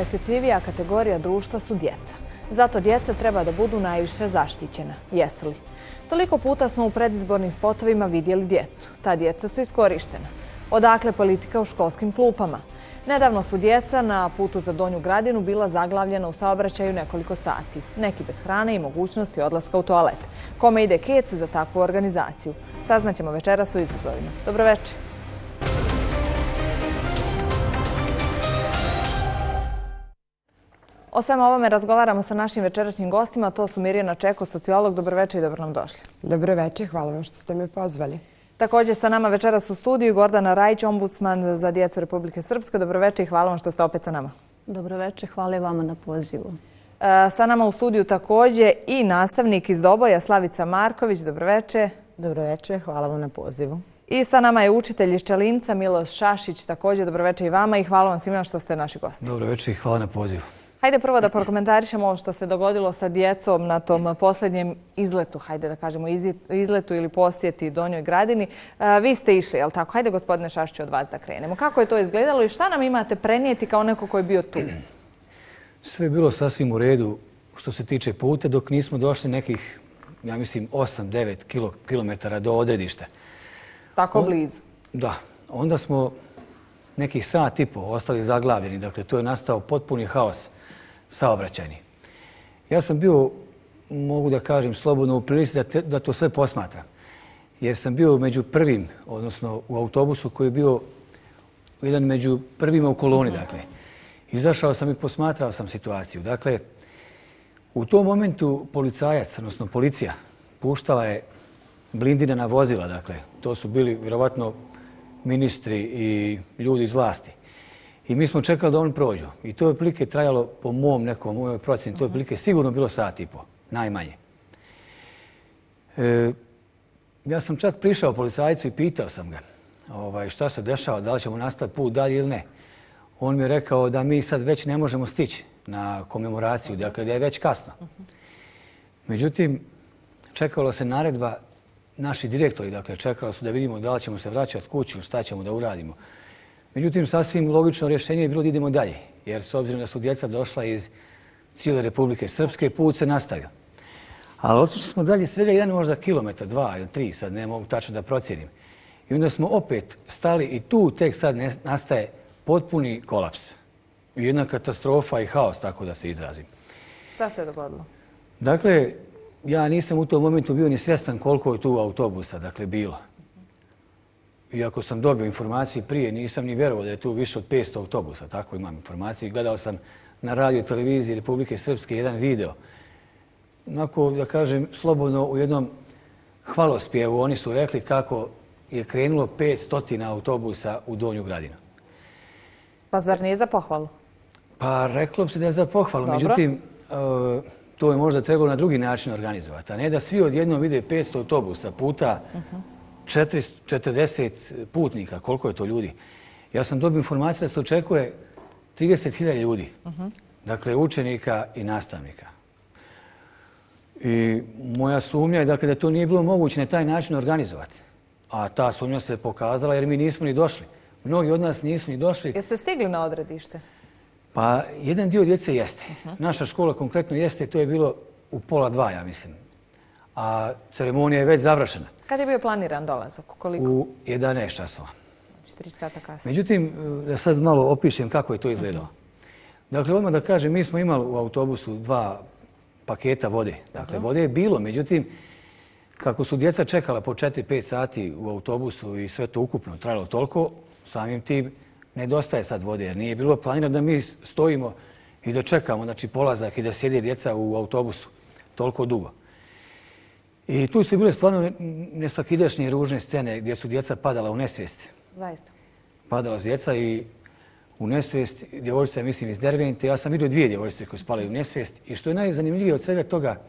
najosjetljivija kategorija društva su djeca. Zato djeca treba da budu najviše zaštićena. Jesu li? Toliko puta smo u predizbornim spotovima vidjeli djecu. Ta djeca su iskorištena. Odakle politika u školskim klupama? Nedavno su djeca na putu za Donju Gradinu bila zaglavljena u saobraćaju nekoliko sati. Neki bez hrane i mogućnosti odlaska u toalet. Kome ide kec za takvu organizaciju? Saznaćemo večeras o izazovima. Dobroveče. O svemu ovome razgovaramo sa našim večerašnjim gostima. To su Mirjana Čeko, sociolog. Dobroveče i dobro nam došli. Dobroveče, hvala vam što ste me pozvali. Također sa nama večeras u studiju Gordana Rajić, ombudsman za djecu Republike Srpske. Dobroveče i hvala vam što ste opet sa nama. Dobroveče, hvala i vama na pozivu. Sa nama u studiju također i nastavnik iz Doboja, Slavica Marković. Dobroveče. Dobroveče, hvala vam na pozivu. I sa nama je učitelj iz Čelinca, Miloš Šašić. Također dobroveče i vama i hvala vam svima što ste naši gosti. Dobroveče i hvala na pozivu. Hajde prvo da prokomentarišemo ovo što se dogodilo sa djecom na tom posljednjem izletu, hajde da kažemo izletu ili posjeti Donjoj Gradini. Vi ste išli, je li tako? Hajde gospodine Šašiću od vas da krenemo. Kako je to izgledalo i šta nam imate prenijeti kao neko ko je bio tu? Sve je bilo sasvim u redu što se tiče puta dok nismo došli nekih, ja mislim, 8-9 kilometara do odredišta. Tako blizu? Da. Onda smo nekih sat i po ostali zaglavljeni. Dakle, to je nastao potpuni haos saobraćajni. Ja sam bio, mogu da kažem, slobodno u prilici da to sve posmatram. Jer sam bio među prvim, odnosno u autobusu koji je bio jedan među prvima u koloni. Dakle, izašao sam i posmatrao sam situaciju. Dakle, u tom momentu policajac, odnosno policija, puštala je blindirana vozila. Dakle, to su bili vjerovatno ministri i ljudi iz vlasti. I mi smo čekali da oni prođu. I to je otprilike trajalo, po mojoj procjeni, to je otprilike sigurno bilo sat i po, najmanje. Ja sam čak prišao policajcu i pitao sam ga šta se dešava, da li ćemo nastaviti put dalje ili ne. On mi je rekao da mi sad već ne možemo stići na komemoraciju, dakle da je već kasno. Međutim, čekalo se naredba, naši direktori, dakle, čekali su da vidimo da li ćemo se vraćati kući ili šta ćemo da uradimo. Međutim, sasvim logično rješenje je bilo da idemo dalje, jer s obzirom da su djeca došla iz cijele Republike Srpske, put se nastavio. Ali otišli smo dalje svega jedan možda kilometar, 2 ili 3, sad ne mogu tačno da procijenim. I onda smo opet stali i tu tek sad nastaje potpuni kolaps. I jedna katastrofa i haos, tako da se izrazim. Šta se je dogodilo? Dakle, ja nisam u tom momentu bio ni svjestan koliko je tu autobusa, dakle, bilo. Iako sam dobio informaciju prije, nisam ni vjerovao da je tu više od 500 autobusa, tako imam informaciju. Gledao sam na radio i televiziji Republike Srpske jedan video. Onako, da kažem, slobodno u jednom hvalospjevu oni su rekli kako je krenulo 500 autobusa u Donju Gradinu. Pa zar nije za pohvalu? Pa reklo bi se da je za pohvalu, međutim, to je možda trebalo na drugi način organizovati, a ne da svi odjednom vide 500 autobusa puta 40 putnika. Koliko je to ljudi? Ja sam dobio informaciju da se očekuje 30.000 ljudi. Dakle, učenika i nastavnika. I moja sumnja je dakle, da to nije bilo moguće na taj način organizovati. A ta sumnja se pokazala jer mi nismo ni došli. Mnogi od nas nisu ni došli. Jeste stigli na odredište? Pa, jedan dio djece jeste. Naša škola konkretno jeste, to je bilo u 1:30, ja mislim. A ceremonija je već završena. Kad je bio planiran dolazak? Koliko? U 11 časova. 4 sata kasnije. Međutim, da sad malo opišem kako je to izgledalo. Dakle, odmah da kažem, mi smo imali u autobusu 2 paketa vode. Dakle, vode je bilo, međutim, kako su djeca čekala po 4-5 sati u autobusu i sve to ukupno trajalo toliko, samim tim nedostaje sad vode, jer nije bilo planirano da mi stojimo i da čekamo, znači, polazak i da sjede djeca u autobusu toliko dugo. I tu su bile stvarno nesvakidašnje ružne scene gdje su djeca padala u nesvijest. Zaista. Padala su djeca i u nesvijest, djevojčica, mislim, iz Dervente. Ja sam vidio 2 djevojčice koje spale u nesvijest. I što je najzanimljivije od svega toga,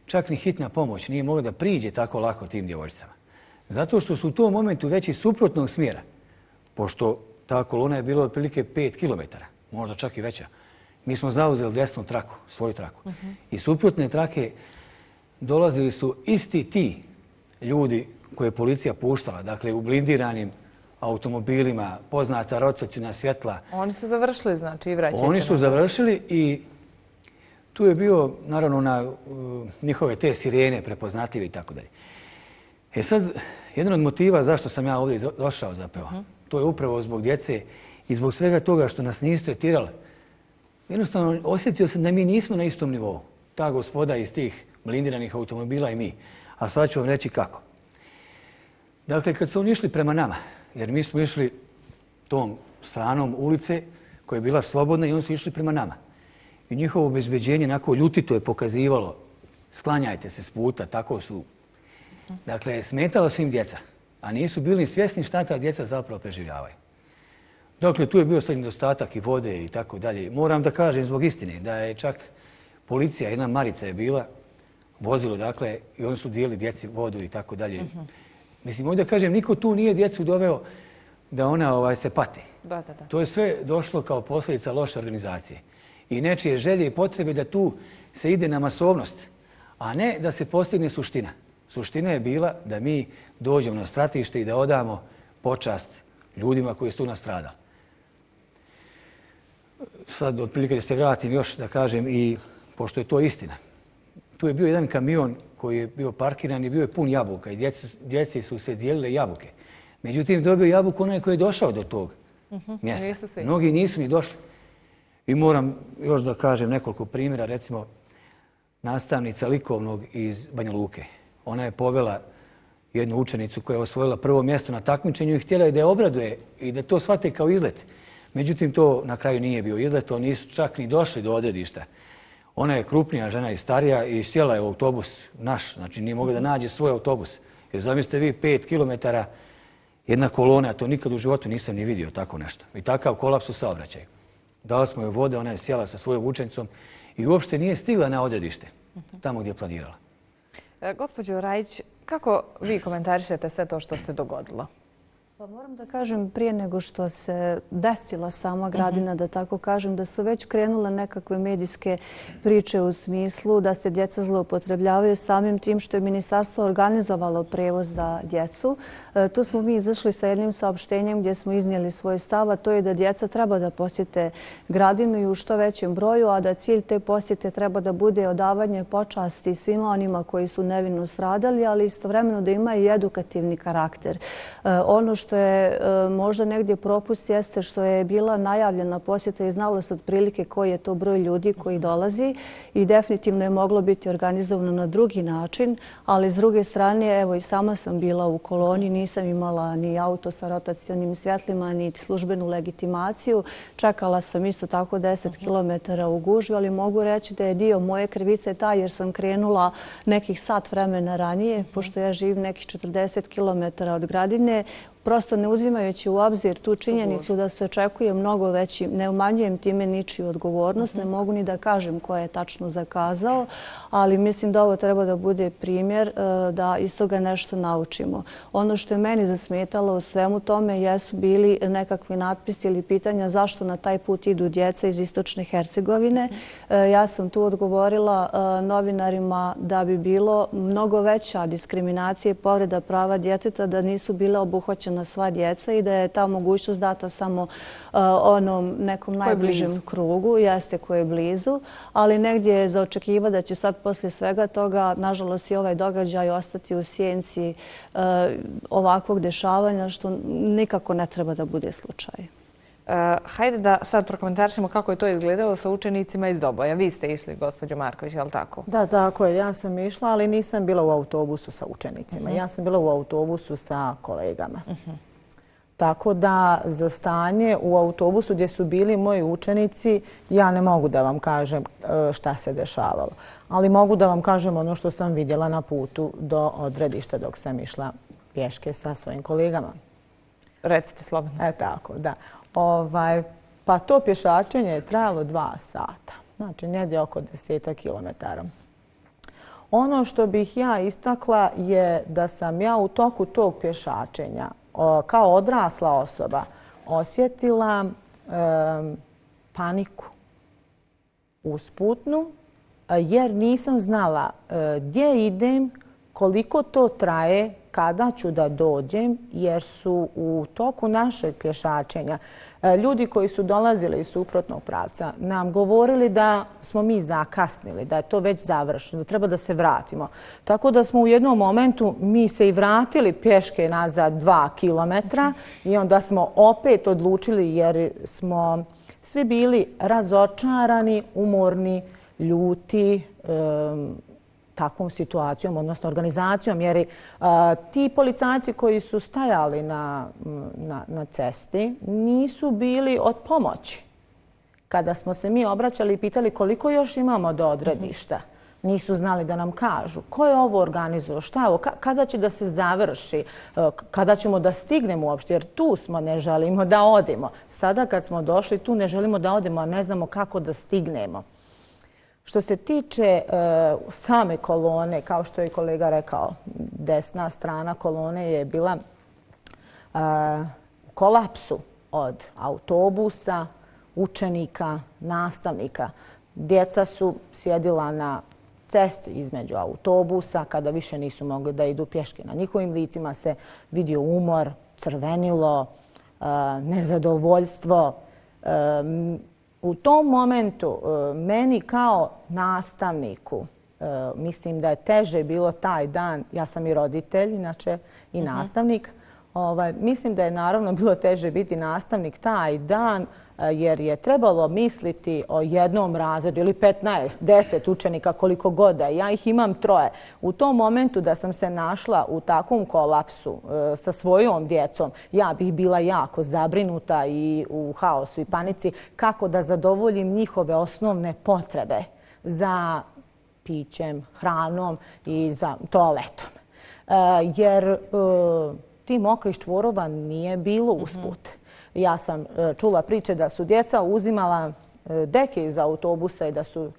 čak ni hitna pomoć nije mogla da priđe tako lako tim djevojčicama. Zato što su u tom momentu već iz suprotnog smjera, pošto ta kolona je bila otprilike 5 kilometara, možda čak i veća. Mi smo zauzeli desnu traku, svoju traku. I suprotne trake dolazili su isti ti ljudi koje je policija puštala, dakle u blindiranim automobilima, poznata rotacijna svjetla. Oni su završili, znači, i vraćaju se. Oni su završili i tu je bio, naravno, na njihove te sirene prepoznatljive i tako dalje. E sad, jedan od motiva zašto sam ja ovdje došao zapravo, to je upravo zbog djece i zbog svega toga što nas nisu tretirali. Jednostavno, osjetio sam da mi nismo na istom nivou. Ta gospoda iz tih blindiranih automobila i mi. A sad ću vam reći kako. Dakle, kad su oni išli prema nama, jer mi smo išli tom stranom ulice koja je bila slobodna i oni su išli prema nama. I njihovo obezbeđenje onako ljutito je pokazivalo sklanjajte se s puta, tako su. Dakle, smetalo su im djeca, a nisu bili svjesni šta ta djeca zapravo preživljavaju. Dakle, tu je bio sad nedostatak i vode i tako dalje. Moram da kažem zbog istine da je čak policija, jedna Marica je bila, vozilo, dakle, i oni su dijelili djeci vodu i tako dalje. Mislim, ovdje da kažem, niko tu nije djecu doveo da ona se pati. To je sve došlo kao posljedica loše organizacije. I nečije želje i potrebe da tu se ide na masovnost, a ne da se postigne suština. Suština je bila da mi dođemo na stratište i da odamo počast ljudima koji su tu nastradali. Sad, otprilike da se vratim još da kažem i pošto je to istina. Tu je bio jedan kamion koji je bio parkiran i bio je pun jabuka i djeci su se dijelile jabuke. Međutim, dobio jabuku onaj koji je došao do tog mjesta. Mnogi nisu ni došli. I moram još da kažem nekoliko primjera, recimo nastavnica likovnog iz Banja Luke. Ona je povela jednu učenicu koja je osvojila prvo mjesto na takmičenju i htjela je da je obraduje i da to shvate kao izlet. Međutim, to na kraju nije bio izlet, oni nisu čak ni došli do odredišta. Ona je krupnija žena i starija i sjela je u autobus naš, znači nije mogla da nađe svoj autobus. Jer zamislite vi 5 kilometara jedna kolona, to nikad u životu nisam ni vidio tako nešto. I takav kolaps u saobraćaju. Dali smo joj vode, ona je sjela sa svojom učenicom i uopšte nije stigla na odredište, tamo gdje je planirala. Gospođo Rajić, kako vi komentarišete sve to što se dogodilo? Pa moram da kažem prije nego što se desila sama Gradina, da tako kažem, da su već krenule nekakve medijske priče u smislu da se djeca zloupotrebljavaju samim tim što je ministarstvo organizovalo prevoz za djecu. Tu smo mi izašli sa jednim saopštenjem gdje smo iznijeli svoj stav, a to je da djeca treba da posjete Gradinu i u što većem broju, a da cilj te posjete treba da bude odavanje počasti svima onima koji su nevino stradali, ali istovremeno da ima i edukativni karakter. Ono što je možda negdje propust jeste što je bila najavljena posjeta i znalo se otprilike koji je to broj ljudi koji dolazi i definitivno je moglo biti organizovano na drugi način, ali s druge strane, evo i sama sam bila u koloni, nisam imala ni auto sa rotacionim svjetlima, ni službenu legitimaciju. Čekala sam isto tako 10 km u gužvi, ali mogu reći da je dio moje krivice taj jer sam krenula nekih sat vremena ranije, pošto ja živim nekih 40 km od Gradine, prosto ne uzimajući u obzir tu činjenicu da se očekuje mnogo veći, ne umanjujem time ničiju odgovornost, ne mogu ni da kažem ko je tačno zakazao, ali mislim da ovo treba da bude primjer da iz toga nešto naučimo. Ono što je meni zasmetalo u svemu tome jesu bili nekakvi natpisi ili pitanja zašto na taj put idu djeca iz Istočne Hercegovine. Ja sam tu odgovorila novinarima da bi bilo mnogo veća diskriminacija i povreda prava djeteta da nisu bile obuhvaćene sva djeca i da je ta mogućnost data samo onom nekom najbližem krugu, jeste koje je blizu, ali negdje je za očekiva da će sad poslije svega toga, nažalost i ovaj događaj ostati u sjenci ovakvog dešavanja, što nikako ne treba da bude slučaj. Hajde da sad prokomentarišemo kako je to izgledalo sa učenicima iz Doboja. Vi ste išli, gospođo Marković, je li tako? Da, tako je. Ja sam išla, ali nisam bila u autobusu sa učenicima. Ja sam bila u autobusu sa kolegama. Tako da za stanje u autobusu gdje su bili moji učenici, ja ne mogu da vam kažem šta se dešavalo. Ali mogu da vam kažem ono što sam vidjela na putu do odredišta dok sam išla pješke sa svojim kolegama. Recite slobodno. Tako, da. Pa to pješačenje je trajalo 2 sata. Znači, negdje oko 10 kilometara. Ono što bih ja istakla je da sam ja u toku tog pješačenja kao odrasla osoba osjetila paniku usputnu jer nisam znala gdje idem, koliko to traje, kada ću da dođem, jer su u toku našeg pješačenja ljudi koji su dolazili iz suprotnog pravca nam govorili da smo mi zakasnili, da je to već završeno, da treba da se vratimo. Tako da smo u jednom momentu mi se i vratili pješke nazad 2 kilometra i onda smo opet odlučili jer smo svi bili razočarani, umorni, ljuti, takvom situacijom, odnosno organizacijom, jer ti policajci koji su stajali na cesti nisu bili od pomoći. Kada smo se mi obraćali i pitali koliko još imamo do odredišta, nisu znali da nam kažu ko je ovo organizovao, šta je ovo, kada će da se završi, kada ćemo da stignemo uopšte, jer tu smo, ne želimo da odemo. Sada kad smo došli, tu ne želimo da odemo, a ne znamo kako da stignemo. Što se tiče same kolone, kao što je kolega rekao, desna strana kolone je bila u kolapsu od autobusa, učenika, nastavnika. Djeca su sjedila na cesti između autobusa kada više nisu mogli da idu pješke. Na njihovim licima se vidio umor, crvenilo, nezadovoljstvo. U tom momentu meni kao nastavniku, mislim da je teže bilo taj dan, ja sam i roditelj inače i nastavnik, mislim da je naravno bilo teže biti nastavnik taj dan jer je trebalo misliti o jednom razredu ili 15, 10 učenika koliko god da. Ja ih imam 3. U tom momentu da sam se našla u takvom kolapsu sa svojom djecom, ja bih bila jako zabrinuta i u haosu i panici kako da zadovoljim njihove osnovne potrebe za pićem, hranom i za toaletom. Jer tih mokrih čvorova nije bilo usput. Ja sam čula priče da su djeca uzimala deke iz autobusa i da su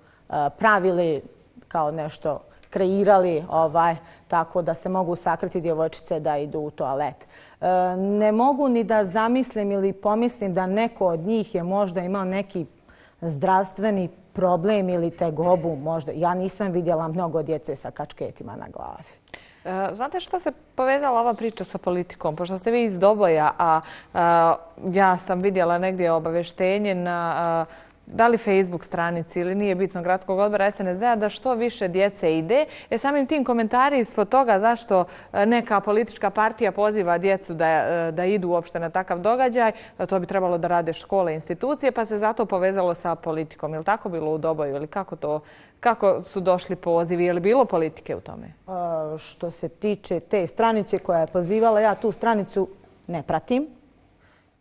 pravili kao nešto, kreirali tako da se mogu sakriti djevojčice da idu u toalet. Ne mogu ni da zamislim ili pomislim da neko od njih je možda imao neki zdravstveni problem ili tegobu. Možda. Ja nisam vidjela mnogo djece sa kačketima na glavi. Znate što se povezala ova priča sa politikom? Pošto ste vi iz Doboja, a ja sam vidjela negdje obavještenje na da li Facebook stranici ili nije bitno gradskog odbora SNSD-a da što više djece ide. Samim tim komentari ispod toga zašto neka politička partija poziva djecu da idu uopšte na takav događaj, to bi trebalo da rade škole i institucije, pa se zato povezalo sa politikom. Je li tako bilo u Doboju ili kako su došli pozivi? Je li bilo politike u tome? Što se tiče te stranice koja je pozivala, ja tu stranicu ne pratim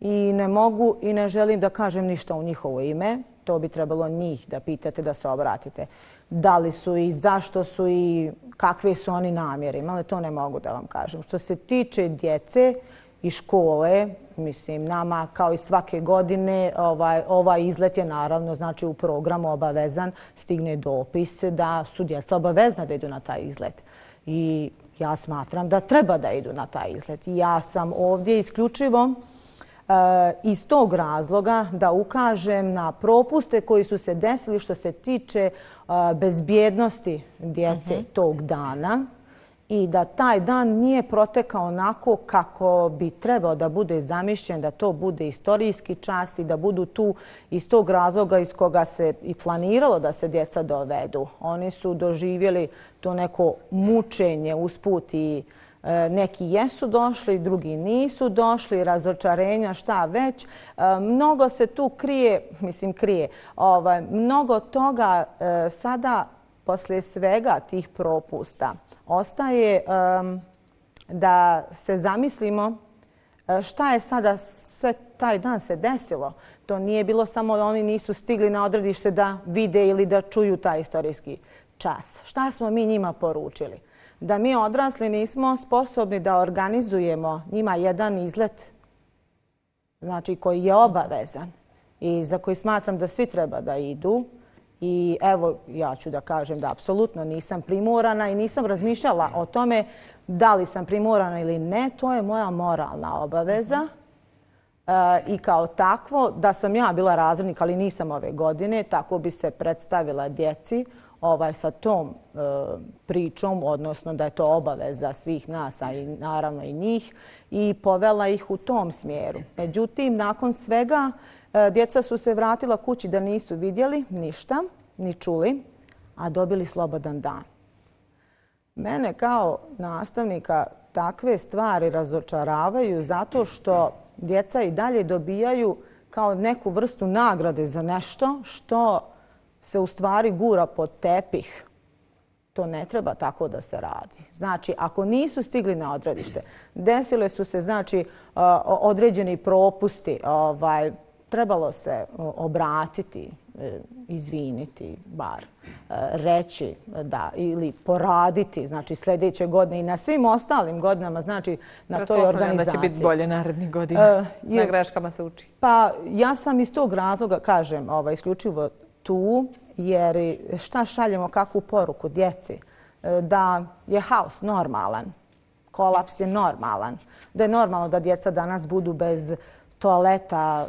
i ne mogu i ne želim da kažem ništa u njihovo ime. To bi trebalo njih da pitate, da se obratite. Da li su i zašto su i kakve su oni namjere. Ali to ne mogu da vam kažem. Što se tiče djece i škole, mislim, nama kao i svake godine ovaj izlet je naravno znači u programu obavezan. Stigne dopis da su djeca obavezna da idu na taj izlet. I ja smatram da treba da idu na taj izlet. Ja sam ovdje isključivo iz tog razloga da ukažem na propuste koji su se desili što se tiče bezbjednosti djece tog dana i da taj dan nije protekao onako kako bi trebao da bude zamišljen, da to bude istorijski čas i da budu tu iz tog razloga iz koga se i planiralo da se djeca dovedu. Oni su doživjeli to neko mučenje usput i neki jesu došli, drugi nisu došli, razočarenja, šta već. Mnogo se tu krije, mnogo toga sada, poslije svega tih propusta, ostaje da se zamislimo šta je sada sve taj dan se desilo. To nije bilo samo da oni nisu stigli na odredište da vide ili da čuju taj istorijski čas. Šta smo mi njima poručili? Da mi odrasli nismo sposobni da organizujemo njima jedan izlet, znači koji je obavezan i za koji smatram da svi treba da idu. I evo, ja ću da kažem da apsolutno nisam primorana i nisam razmišljala o tome da li sam primorana ili ne. To je moja moralna obaveza. I kao takvo, da sam ja bila razrednik, ali nisam ove godine, tako bi se predstavila djeci. sa tom pričom, odnosno da je to obaveza svih nas, a i naravno i njih, i povela ih u tom smjeru. Međutim, nakon svega, djeca su se vratila kući da nisu vidjeli ništa, ni čuli, a dobili slobodan dan. Mene kao nastavnika takve stvari razočaravaju zato što djeca i dalje dobijaju kao neku vrstu nagrade za nešto što se u stvari gura pod tepih. To ne treba tako da se radi. Znači, ako nisu stigli na odredište, desile su se određeni propusti, trebalo se obratiti, izviniti, bar reći da, ili poraditi, znači sljedeće godine i na svim ostalim godinama, znači na toj organizaciji. Da će biti bolje narednih godina. Na greškama se uči. Pa ja sam iz tog razloga, kažem, isključivo tu, jer šta šaljemo, kakvu poruku djeci? Da je haos normalan, kolaps je normalan, da je normalno da djeca danas budu bez toaleta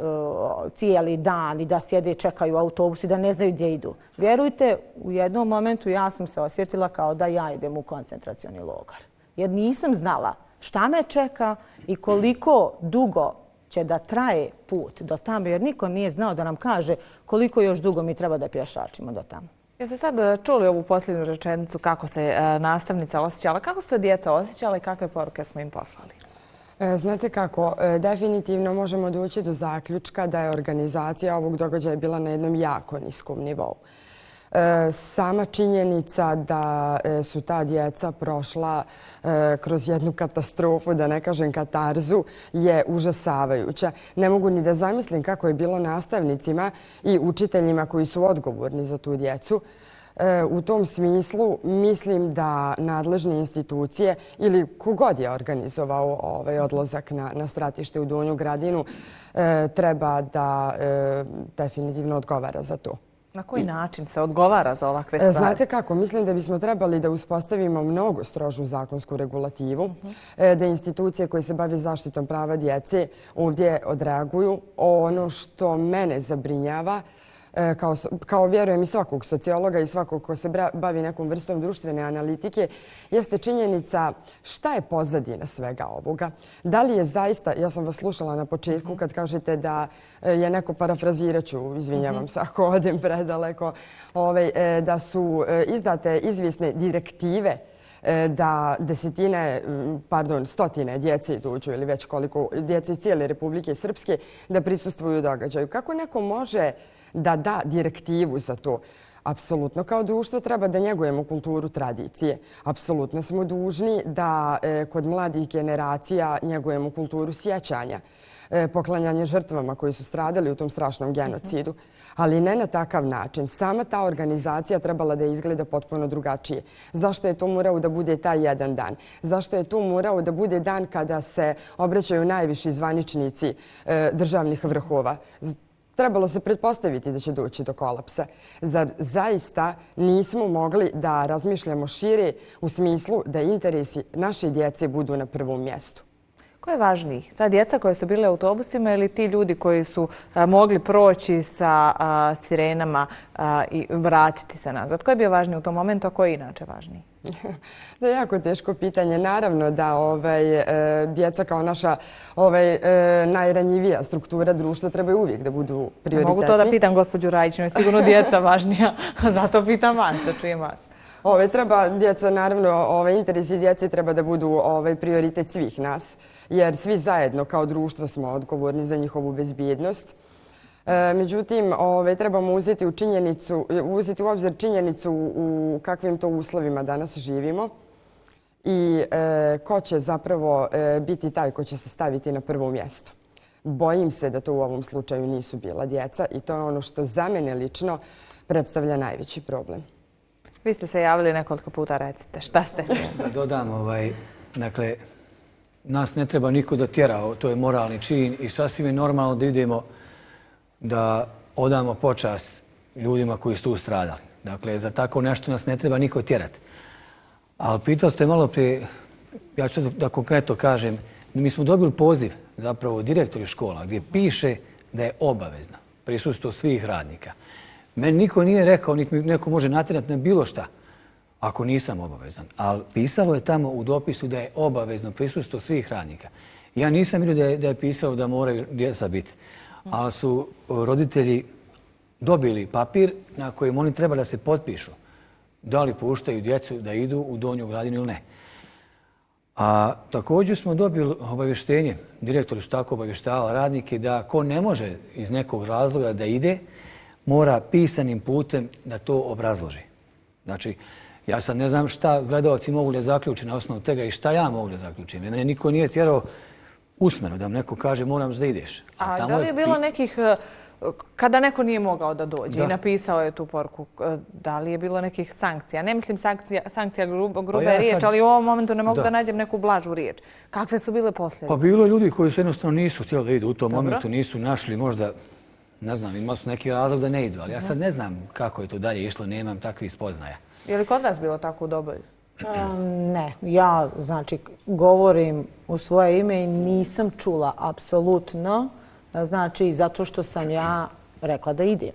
cijeli dan i da sjede i čekaju autobus i da ne znaju gdje idu. Vjerujte, u jednom momentu ja sam se osjetila kao da ja idem u koncentracioni logor. Jer nisam znala šta me čeka i koliko dugo će da traje put do tamo, jer niko nije znao da nam kaže koliko još dugo mi treba da pješačimo do tamo. Jeste sad čuli ovu posljednju rečenicu kako se nastavnica osjećala? Kako su se djeca osjećala i kakve poruke smo im poslali? Znate kako, definitivno možemo doći do zaključka da je organizacija ovog događaja bila na jednom jako niskom nivou. Sama činjenica da su ta djeca prošla kroz jednu katastrofu, da ne kažem katarzu, je užasavajuća. Ne mogu ni da zamislim kako je bilo nastavnicima i učiteljima koji su odgovorni za tu djecu. U tom smislu mislim da nadležne institucije ili kogod je organizovao odlazak na stratište u Donju Gradinu treba da definitivno odgovara za to. Na koji način se odgovara za ovakve stvari? Znate kako, mislim da bismo trebali da uspostavimo mnogo strožu zakonsku regulativu, da institucije koje se bave zaštitom prava djece ovdje odreaguju. Ono što mene zabrinjava, kao vjerujem i svakog sociologa i svakog ko se bavi nekom vrstom društvene analitike, jeste činjenica šta je pozadina svega ovoga. Da li je zaista, ja sam vas slušala na početku kad kažete da je neko, parafraziraću, izvinjavam se ako odem predaleko, da su izdate izvjesne direktive da stotine djece dođu ili već koliko djece iz cijele Republike Srpske da prisustvuju događaju. Kako neko može da da direktivu za to? Apsolutno kao društvo treba da njegujemo kulturu tradicije. Apsolutno smo dužni da kod mladih generacija njegujemo kulturu sjećanja, poklanjanje žrtvama koji su stradali u tom strašnom genocidu. Ali ne na takav način. Sama ta organizacija trebala da izgleda potpuno drugačije. Zašto je to morao da bude taj jedan dan? Zašto je to morao da bude dan kada se obraćaju najviši zvaničnici državnih vrhova? Trebalo se pretpostaviti da će doći do kolapsa. Zar zaista nismo mogli da razmišljamo šire u smislu da interesi naše djece budu na prvom mjestu? Ko je važniji? Ta djeca koja su bile u autobusima ili ti ljudi koji su mogli proći sa sirenama i vratiti se nazad? Ko je bio važniji u tom momentu, a ko je inače važniji? To je jako teško pitanje. Naravno da djeca kao naša najranjivija struktura društva trebaju uvijek da budu prioritetni. Mogu to da pitam gospođu Rajić, je sigurno djeca važnija, zato pitam vas, da čujem vas. Treba djeca, naravno, interesi djece treba da budu prioritet svih nas, jer svi zajedno kao društvo smo odgovorni za njihovu bezbjednost. Međutim, trebamo uzeti u obzir činjenicu u kakvim to uslovima danas živimo i ko će zapravo biti taj ko će se staviti na prvo mjesto. Bojim se da to u ovom slučaju nisu bila djeca i to je ono što za mene lično predstavlja najveći problem. Vi ste se javili nekoliko puta, recite. Šta ste? Da dodam, dakle, nas ne treba niko da tjera, to je moralni čin i sasvim je normalno da idemo da odamo počast ljudima koji su tu stradali. Dakle, za tako nešto nas ne treba niko tjerati. Ali pitali ste malo prije, ja ću da konkretno kažem, mi smo dobili poziv zapravo direktori škola gdje piše da je obavezno prisustvo svih radnika. Meni niko nije rekao, niti mi neko može natjerati na bilo šta, ako nisam obavezan. Ali pisalo je tamo u dopisu da je obavezno prisustvo svih radnika. Ja nisam vidio da je pisalo da moraju djeca biti. Ali su roditelji dobili papir na kojem oni treba da se potpišu. Da li puštaju djecu da idu u Donju Gradinu ili ne. A također smo dobili obavještenje, direktori su tako obavještavali radnike, da ko ne može iz nekog razloga da ide, mora pisanim putem da to obrazloži. Znači, ja sad ne znam šta gledalci mogu da zaključe na osnovu tega i šta ja mogu da zaključim. Mene niko nije tjerao usmeno da vam neko kaže moram da ideš. A da li je bilo nekih, kada neko nije mogao da dođe i napisao je tu poruku, da li je bilo nekih sankcija? Ne mislim sankcija grube riječ, ali u ovom momentu ne mogu da nađem neku blažu riječ. Kakve su bile posljedice? Pa bilo je ljudi koji su jednostavno nisu htjeli da idu u tom momentu, nisu našli možda, ne znam, imali su neki razlog da ne idu, ali ja sad ne znam kako je to dalje išlo, nemam takvih spoznaja. Je li kod vas bilo tako u Doboju? Ne, ja znači govorim u svoje ime i nisam čula apsolutno, znači zato što sam ja rekla da idem.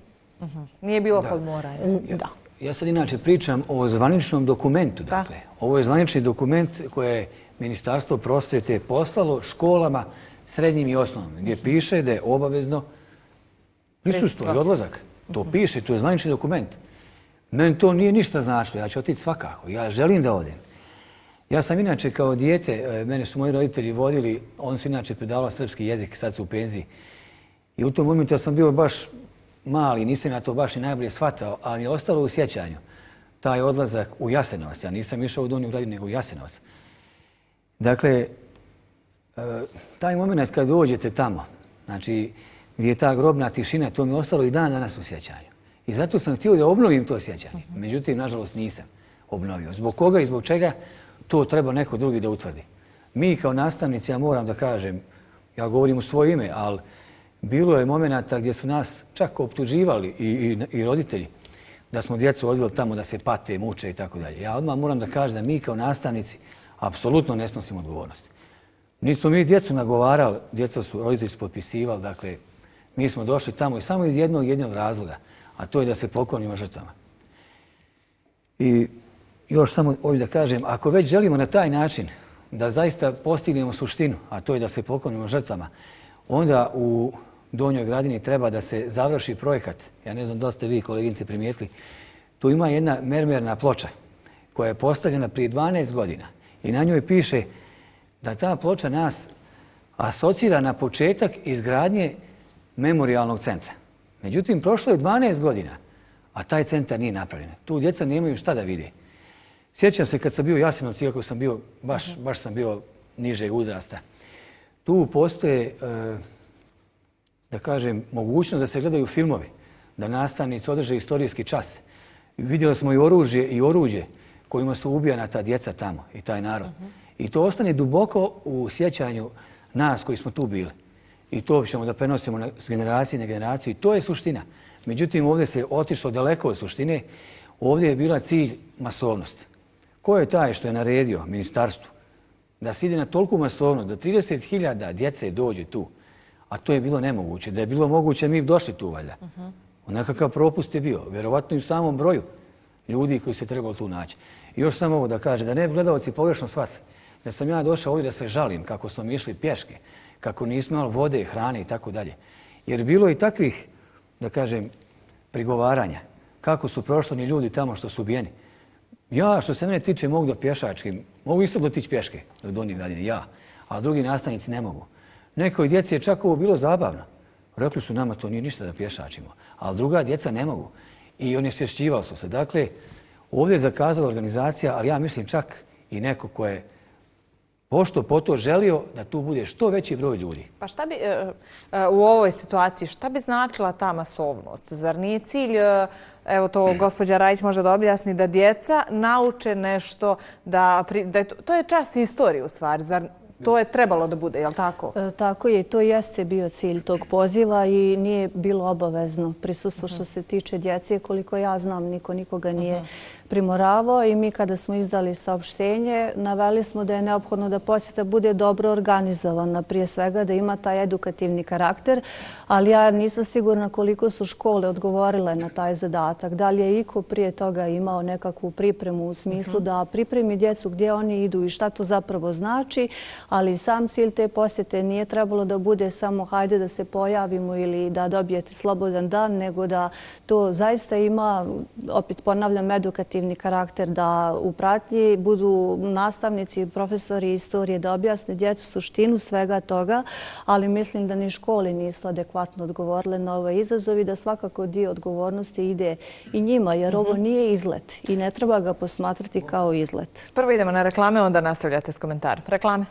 Nije bilo kod moranja? Da. Ja sad inače pričam o zvaničnom dokumentu. Dakle, ovo je zvanični dokument koje je Ministarstvo prosvjete poslalo školama srednjim i osnovnim, gdje piše da je obavezno prisustvo i odlazak. To piše, to je zvanični dokument. Meni to nije ništa značilo, ja ću otići svakako, ja želim da odem. Ja sam inače kao dijete, mene su moji roditelji vodili, oni su inače predavali srpski jezik, sad su u penziji. I u tom momentu ja sam bio baš mali, nisam ja to baš i najbolje shvatao, ali je ostalo u sjećanju taj odlazak u Jasenovac. Ja nisam išao u Donju Gradinu, nego u Jasenovac. Dakle, taj moment kad dođete tamo, znači gdje je ta grobna tišina, to mi je ostalo i dan danas u sjećanju. I zato sam htio da obnovim to sjećanje. Međutim, nažalost, nisam obnovio. Zbog koga i zbog čega, to treba neko drugi da utvrdi. Mi kao nastavnici, ja moram da kažem, ja govorim u svoje ime, ali bilo je momenata gdje su nas čak optuživali i roditelji da smo djecu odveli tamo da se pate, muče i tako dalje. Ja odmah moram da kažem da mi kao nastavnici apsolutno ne snosimo odgovornosti. Nismo mi djecu nagovarali, roditelji su potpisivali, dakle, mi smo došli tamo i samo iz jednog razloga, a to je da se poklonimo žrtvama. I još samo ovdje da kažem, ako već želimo na taj način da zaista postignemo suštinu, a to je da se poklonimo žrtvama, onda u Donjoj Gradini treba da se završi projekat. Ja ne znam da ste vi, koleginice, primijetili. Tu ima jedna mermerna ploča koja je postavljena prije 12 godina i na njoj piše da ta ploča nas asocira na početak izgradnje memorialnog centra. Međutim, prošlo je 12 godina, a taj centar nije napravljen. Tu djeca nemaju šta da vide. Sjećam se kad sam bio u Jasenovcu, iako sam bio, baš sam bio nižeg uzrasta. Tu postoje, da kažem, mogućnost da se gledaju filmovi, da nastavnici održe istorijski čas. Vidjeli smo i oružje kojima su ubijana ta djeca tamo i taj narod. I to ostane duboko u sjećanju nas koji smo tu bili. I to ćemo da prenosimo s generacije na generaciju. I to je suština. Međutim, ovdje se otišlo daleko od suštine. Ovdje je bila cilj masovnost. Ko je taj što je naredio ministarstvu da se ide na toliku masovnost, da 30.000 djece dođe tu, a to je bilo nemoguće. Da je bilo moguće, mi bi došli tu valjda. Nekakav propust je bio, vjerovatno i u samom broju ljudi koji se trebalo tu naći. I još samo ovo da kaže, da ne bi gledalci pogrešno shvatili, da sam ja došao ovdje da se žalim kako smo išli pješke, kako nismo imali vode, hrane i tako dalje. Jer bilo i takvih, da kažem, prigovaranja. Kako su prošlani ljudi tamo što su ubijeni. Ja, što se mene tiče, mogu da pješačkim, mogu i sad dotići pješke do Donje Gradine, ja, a drugi nastavnici ne mogu. Nekoj djeci je čak ovo bilo zabavno. Rekli su nama to nije ništa da pješačimo, ali druga djeca ne mogu. I oni osvješćivali su se. Dakle, ovdje je zakazala organizacija, ali ja mislim čak i neko ko je pošto po to želio da tu bude što veći broj ljudi. Pa šta bi u ovoj situaciji, šta bi značila ta masovnost? Zar nije cilj, evo to gospođa Rajić može da objasni, da djeca nauče nešto, to je čas istorije u stvari, zar To je trebalo da bude, je li tako? Tako je, to jeste bio cilj tog poziva i nije bilo obavezno prisustvo što se tiče djece. Koliko ja znam, niko nikoga nije primoravao i mi kada smo izdali saopštenje, naveli smo da je neophodno da posjeta bude dobro organizovana, prije svega da ima taj edukativni karakter, ali ja nisam sigurna koliko su škole odgovorile na taj zadatak. Da li je iko prije toga imao nekakvu pripremu u smislu da pripremi djecu gdje oni idu i šta to zapravo znači, ali sam cilj te posjete nije trebalo da bude samo hajde da se pojavimo ili da dobijete slobodan dan, nego da to zaista ima, opet ponavljam, edukativni karakter, da u pratnji budu nastavnici i profesori istorije da objasne djecu suštinu svega toga, ali mislim da ni škole nisu adekvatno odgovorile na ovaj izazov i da svakako dio odgovornosti ide i njima, jer ovo nije izlet i ne treba ga posmatrati kao izlet. Prvo idemo na reklame, onda nastavljate s komentarom. Reklame.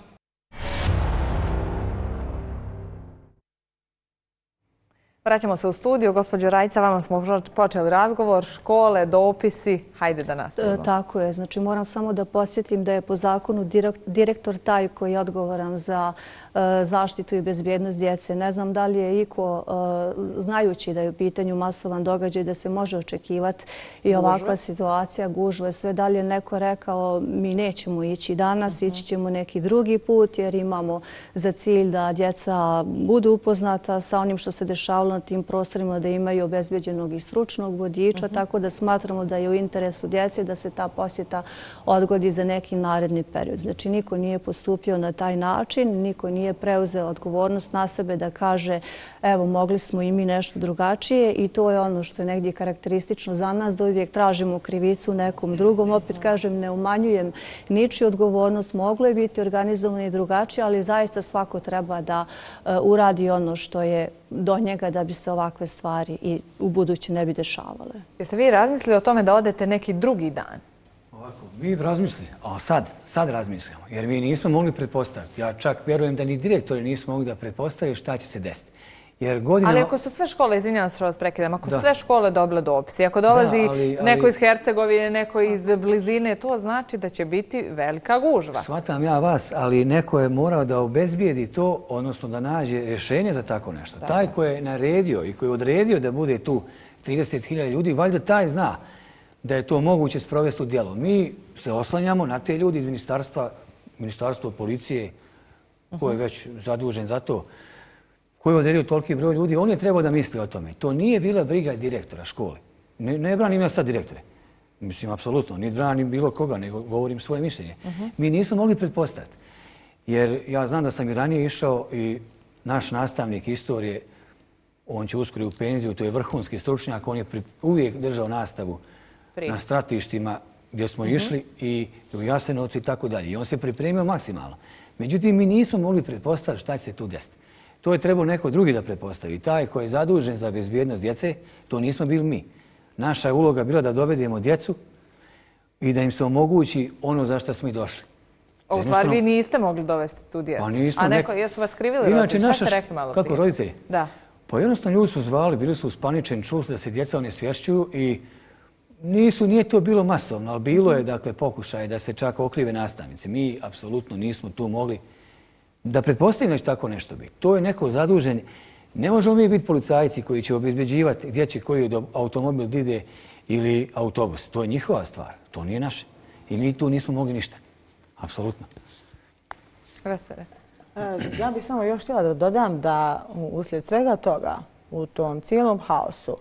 Vraćamo se u studiju. Gospođo Rajica, vama smo počeli razgovor, škole, dopisi. Hajde da nastavimo. Tako je. Znači, moram samo da podsjetim da je po zakonu direktor taj koji je odgovoran za zaštitu i bezbjednost djece. Ne znam da li je iko, znajući da je u pitanju masovan događaj, da se može očekivati i ovakva situacija, gužve, sve dalje neko rekao mi nećemo ići danas, ići ćemo neki drugi put jer imamo za cilj da djeca budu upoznata sa onim što se dešavalo na tim prostorima, da imaju obezbeđenog i stručnog vodiča, tako da smatramo da je u interesu djece da se ta posjeta odgodi za neki naredni period. Znači, niko nije postupio na taj način, niko nije preuzeo odgovornost na sebe da kaže evo, mogli smo i mi nešto drugačije i to je ono što je negdje karakteristično za nas, da uvijek tražimo krivicu nekom drugom. Opet kažem, ne umanjujem ničiju odgovornost, moglo je biti organizovano i drugačije, ali zaista svako treba da uradi ono što je do njega da bi se ovakve stvari i u buduće ne bi dešavale. Jeste vi razmislili o tome da odete neki drugi dan? Ovako, mi razmislili, a sad razmislimo, jer mi nismo mogli pretpostaviti. Ja čak vjerujem da ni direktori nisu mogli da pretpostaviti šta će se desiti. Ali ako su sve škole, izvinjavam se što vas prekidam, ako su sve škole dobile dopis i ako dolazi neko iz Hercegovine, neko iz blizine, to znači da će biti velika gužva. Shvatam ja vas, ali neko je morao da obezbijedi to, odnosno da nađe rješenje za tako nešto. Taj ko je naredio i koji je odredio da bude tu 30.000 ljudi, valjda taj zna da je to moguće sprovesti u djelo. Mi se oslanjamo na te ljudi iz ministarstva policije, ko je već zadužen za to, koji je odredio toliki broj ljudi, on je trebao da misli o tome. To nije bila briga direktora škole. Ne branim ja sad direktore. Mislim, apsolutno. Ni branim bilo koga, nego govorim svoje mišljenje. Mi nismo mogli pretpostaviti. Jer ja znam da sam i ranije išao i naš nastavnik istorije, on će uskoro u penziju, to je vrhunski stručnjak, on je uvijek držao nastavu na stratištima gdje smo išli i u Jasenovcu i tako dalje. I on se pripremio maksimalno. Međutim, mi nismo mogli pretpostaviti šta će se tu desiti. To je trebao neko drugi da pretpostavi. Taj koji je zadužen za bezbjednost djece, to nismo bili mi. Naša je uloga bila da dovedemo djecu i da im se omogući ono za što smo i došli. U stvari, vi niste mogli dovesti tu djecu. A neko, jesu vas krivili roditelji? Šta ste rekli malo prije? Kako roditelji? Da. Pa jednostavno ljudi su zvali, bili su uspaničeni, čuli su da se djeca onesvješćuju i nije to bilo masovno, ali bilo je dakle pokušaj da se čak okrive nastavnici. Mi apsolutno nismo tu mogli da pretpostavimo da će tako nešto biti. To je neko zadužen. Ne možemo mi biti policajci koji će obezbeđivati gdje će koji automobil da ide ili autobus. To je njihova stvar. To nije naše. I mi tu nismo mogli ništa. Apsolutno. Ja bih samo još htjela da dodam da uslijed svega toga u tom cijelom haosu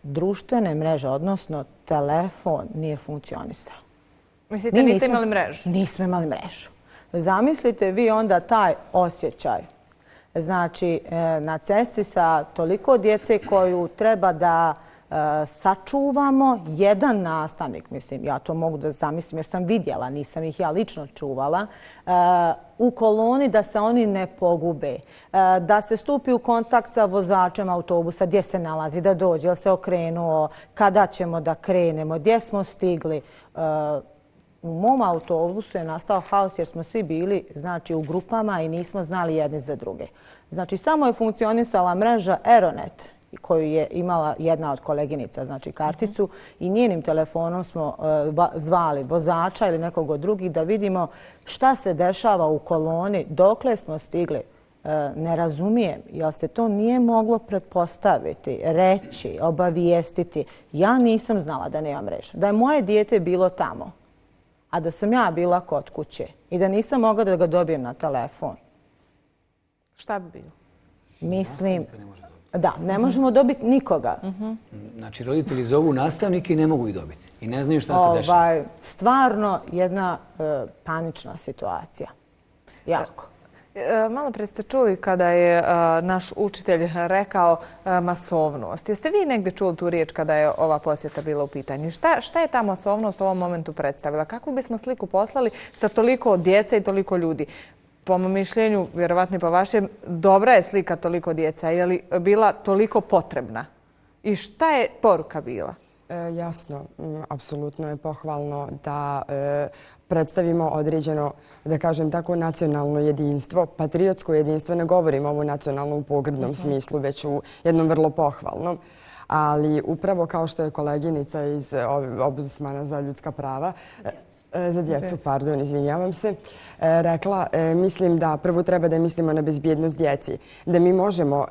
društvene mreže, odnosno telefon, nije funkcionisao. Mislite, niste imali mrežu? Nismo imali mrežu. Zamislite vi onda taj osjećaj. Znači, na cesti sa toliko djece koju treba da sačuvamo, jedan nastavnik, mislim, ja to mogu da zamislim jer sam vidjela, nisam ih ja lično čuvala, u koloni da se oni ne pogube, da se stupi u kontakt sa vozačem autobusa, gdje se nalazi, da dođe, jel se okrenuo, kada ćemo da krenemo, gdje smo stigli. U mom autobusu je nastao haos jer smo svi bili u grupama i nismo znali jedni za druge. Znači, samo je funkcionisala mreža Aeronet koju je imala jedna od koleginica, znači karticu, i njenim telefonom smo zvali vozača ili nekog od drugih da vidimo šta se dešava u koloni, dokle smo stigli. Ne razumijem, jer se to nije moglo pretpostaviti, reći, obavijestiti. Ja nisam znala da nema mreža. Da je moje dijete bilo tamo, a da sam ja bila kod kuće i da nisam mogla da ga dobijem na telefon. Šta bi bilo? Mislim, da, ne možemo dobiti nikoga. Znači, roditelji zovu nastavnike i ne mogu ih dobiti. I ne znaju šta se dešava. Stvarno jedna panična situacija. Jako. Malo pre ste čuli kada je naš učitelj rekao masovnost. Jeste vi negdje čuli tu riječ kada je ova posjeta bila u pitanju? Šta je ta masovnost u ovom momentu predstavila? Kakvu bismo sliku poslali sa toliko djece i toliko ljudi? Po mom mišljenju, vjerovatno i po vašem, dobra je slika toliko djeca. Je li bila toliko potrebna? I šta je poruka bila? Jasno, apsolutno je pohvalno da predstavimo određeno, da kažem tako, nacionalno jedinstvo, patriotsko jedinstvo. Ne govorim ovo nacionalno u pogrdnom smislu, već u jednom vrlo pohvalnom. Ali upravo kao što je koleginica iz Ombudsmana za ljudska prava, za djecu, pardon, izvinjavam se, rekla, mislim da prvo treba da mislimo na bezbjednost djeci. Da mi možemo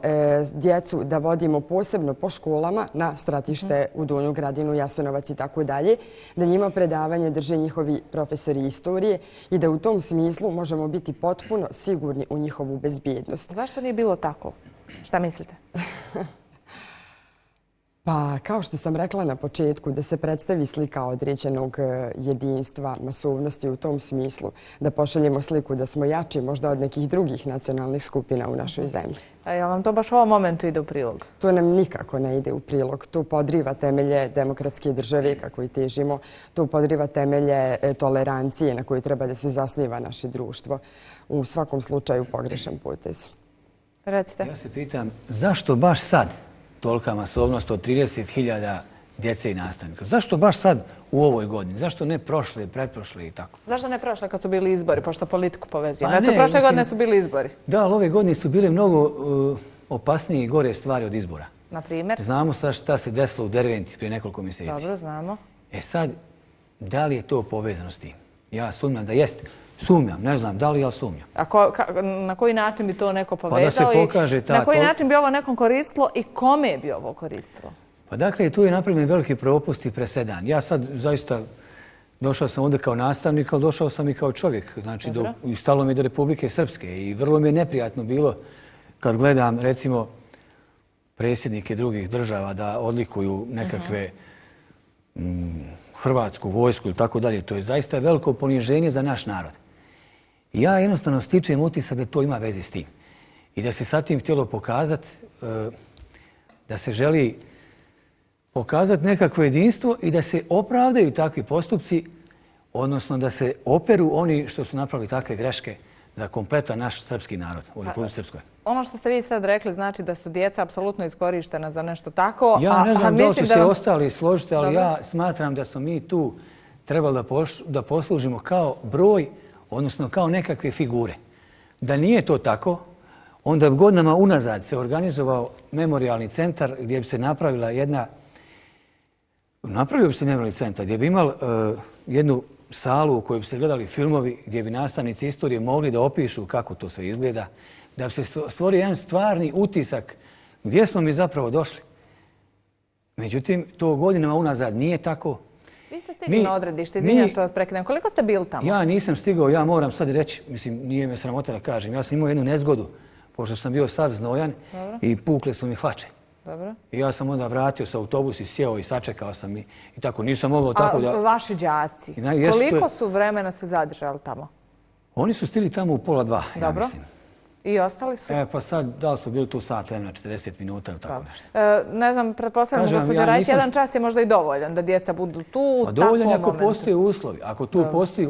djecu da vodimo posebno po školama na stratište u Donju Gradinu, Jasenovac i tako dalje, da njima predavanje drže njihovi profesori istorije i da u tom smislu možemo biti potpuno sigurni u njihovu bezbjednost. Zašto nije bilo tako? Šta mislite? Pa, kao što sam rekla na početku, da se predstavi slika određenog jedinstva, masovnosti u tom smislu, da pošaljemo sliku da smo jači možda od nekih drugih nacionalnih skupina u našoj zemlji. A je vam to baš u ovom momentu ide u prilog? To nam nikako ne ide u prilog. To podriva temelje demokratske države kako i težimo. To podriva temelje tolerancije na koju treba da se zasniva naše društvo. U svakom slučaju pogrešan potez. Recite. Ja se pitam, zašto baš sad tolika masovnost od 30.000 djece i nastavnika? Zašto baš sad u ovoj godini? Zašto ne prošle, pretprošle i tako? Zašto ne prošle kad su bili izbori, pošto politiku povezujemo? Eto, prošle godine su bili izbori. Da, ali ove godine su bile mnogo opasnije i gore stvari od izbora. Na primjer? Znamo šta se desilo u Derventi prije nekoliko mjeseci. Dobro, znamo. Sad, da li je to povezano s tim? Ja sumnjam da jeste. Sumnjam, ne znam da li, ali sumnjam. A na koji način bi to neko povezao? Pa da se pokaže ta... Na koji način bi ovo nekom koristilo i kome bi ovo koristilo? Pa dakle, tu je napravljen veliki propust i presedan. Ja sad zaista došao sam ovdje kao nastavnik, ali došao sam i kao čovjek. Znači, stalo mi do Republike Srpske i vrlo mi je neprijatno bilo kad gledam, recimo, predsjednike drugih država da odlikuju nekakve hrvatsku vojsku ili tako dalje. To je zaista veliko poniženje za naš narod. Ja jednostavno stičem utisak da to ima veze s tim. I da se sa tim htjelo pokazati, da se želi pokazati nekakvo jedinstvo i da se opravdaju takvi postupci, odnosno da se operu oni što su napravili takve greške za kompletan naš srpski narod u Republici Srpskoj. Ono što ste vi sad rekli znači da su djeca apsolutno iskorištena za nešto tako. Ja ne znam da li će se ostali složiti, ali ja smatram da smo mi tu trebali da poslužimo kao broj, odnosno kao nekakve figure. Da nije to tako, onda bi godinama unazad se organizovao memorialni centar gdje bi se napravila jedna... Napravio bi se memorialni centar gdje bi imali jednu salu u kojoj bi se gledali filmovi, gdje bi nastavnici istorije mogli da opišu kako to sve izgleda, da bi se stvorio jedan stvarni utisak gdje smo mi zapravo došli. Međutim, to godinama unazad nije tako. Vi ste stigli na odredište, izvinjam što vas prekidam. Koliko ste bili tamo? Ja nisam stigao, ja moram sad reći, mislim, nije me sramota da kažem. Ja sam imao jednu nezgodu, pošto sam bio sav znojan i pukle su mi hlače. Dobro. I ja sam onda vratio sa autobus i sjeo i sačekao sam i tako. Nisam mogao tako da... A vaši đaci, koliko su vremena se zadržali tamo? Oni su stigli tamo u 1:30, ja mislim. I ostali su? Pa sad, da li su bili tu sat vremena, 40 minuta ili tako nešto. Ne znam, pretpostavljam, gospođa Rajić, jedan čas je možda i dovoljan da djeca budu tu u takvom momentu. Dovoljan je ako postoje uslovi, ako tu postoji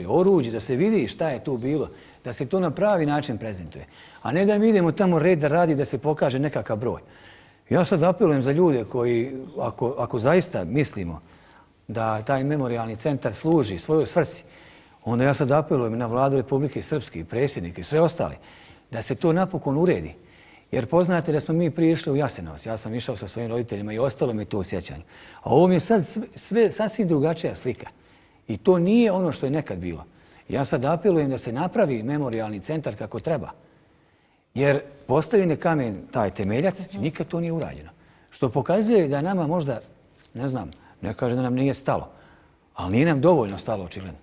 oružje, da se vidi šta je tu bilo, da se to na pravi način prezentuje. A ne da mi idemo tamo red da radi da se pokaže nekakav broj. Ja sad apelujem za ljude koji, ako zaista mislimo da taj memorialni centar služi svojoj svrsi, onda ja sad apelujem na vladu Republike Srpske i predsjednike i sve ostale, da se to napokon uredi Jer poznate da smo mi prije išli u Jasenovac. Ja sam išao sa svojim roditeljima i ostalo mi to u sjećanju. A ovo mi je sad sve sasvim drugačija slika. I to nije ono što je nekad bilo. Ja sad apelujem da se napravi memorijalni centar kako treba. Jer postavljen je kamen taj temeljac i nikad to nije urađeno. Što pokazuje da nama možda, ne znam, ne kažem da nam nije stalo, ali nije nam dovoljno stalo očigledno.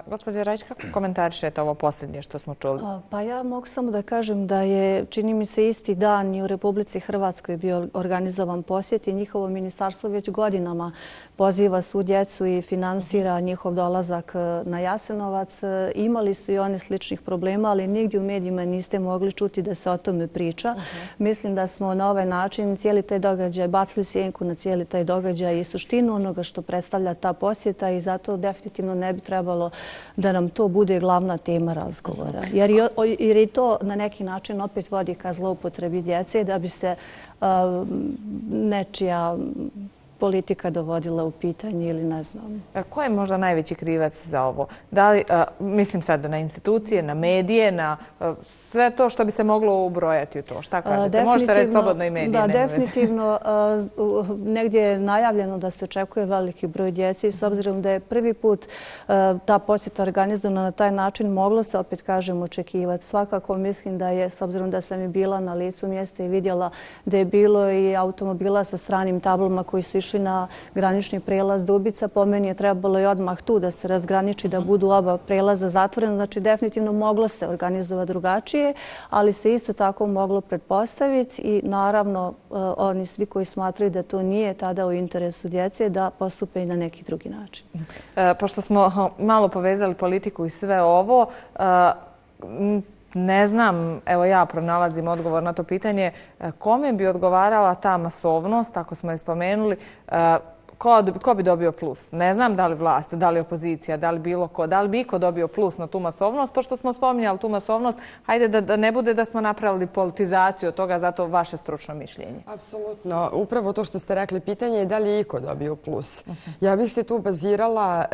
Gospođa Rajić, kako komentarišete ovo posljednje što smo čuli? Pa ja mogu samo da kažem da je, čini mi se, isti dan i u Republici Hrvatskoj bio organizovan posjet i njihovo ministarstvo već godinama poziva svu djecu i finansira njihov dolazak na Jasenovac. Imali su i oni sličnih problema, ali nigdje u medijima niste mogli čuti da se o tome priča. Mislim da smo na ovaj način cijeli taj događaj bacili sjenku na cijeli taj događaj i suštinu onoga što predstavlja ta posjeta i zato definitivno ne bi trebalo da nam to bude glavna tema razgovora. Jer i to na neki način opet vodi ka zloupotrebi djece da bi se nečija politika dovodila u pitanje ili ne znam. Ko je možda najveći krivac za ovo? Da li, mislim sad na institucije, na medije, na sve to što bi se moglo ubrojati u to? Šta kažete? Možete reći slobodno i medije. Da, definitivno. Negdje je najavljeno da se očekuje veliki broj djece i s obzirom da je prvi put ta posjeta organizovana na taj način, moglo se, opet kažem, očekivati. Svakako mislim da je, s obzirom da sam i bila na licu mjesta i vidjela da je bilo i automobila sa stranim tablama koji su išli na granični prelaz Dubica. Po meni je trebalo i odmah tu da se razgraniči, da budu oba prelaza zatvorena. Znači, definitivno moglo se organizovati drugačije, ali se isto tako moglo pretpostaviti i naravno oni svi koji smatraju da to nije tada u interesu djece da postupe i na neki drugi način. Pošto smo malo povezali politiku i sve ovo, ne znam, evo ja pronalazim odgovor na to pitanje, kome bi odgovarala ta masovnost, ako smo je spomenuli, ko bi dobio plus? Ne znam da li vlast, da li opozicija, da li bilo ko, da li bi iko dobio plus na tu masovnost, pošto smo spominjali tu masovnost, hajde da ne bude da smo napravili politizaciju od toga, zato vaše stručno mišljenje. Apsolutno. Upravo to što ste rekli, pitanje je da li je iko dobio plus. Ja bih se tu bazirala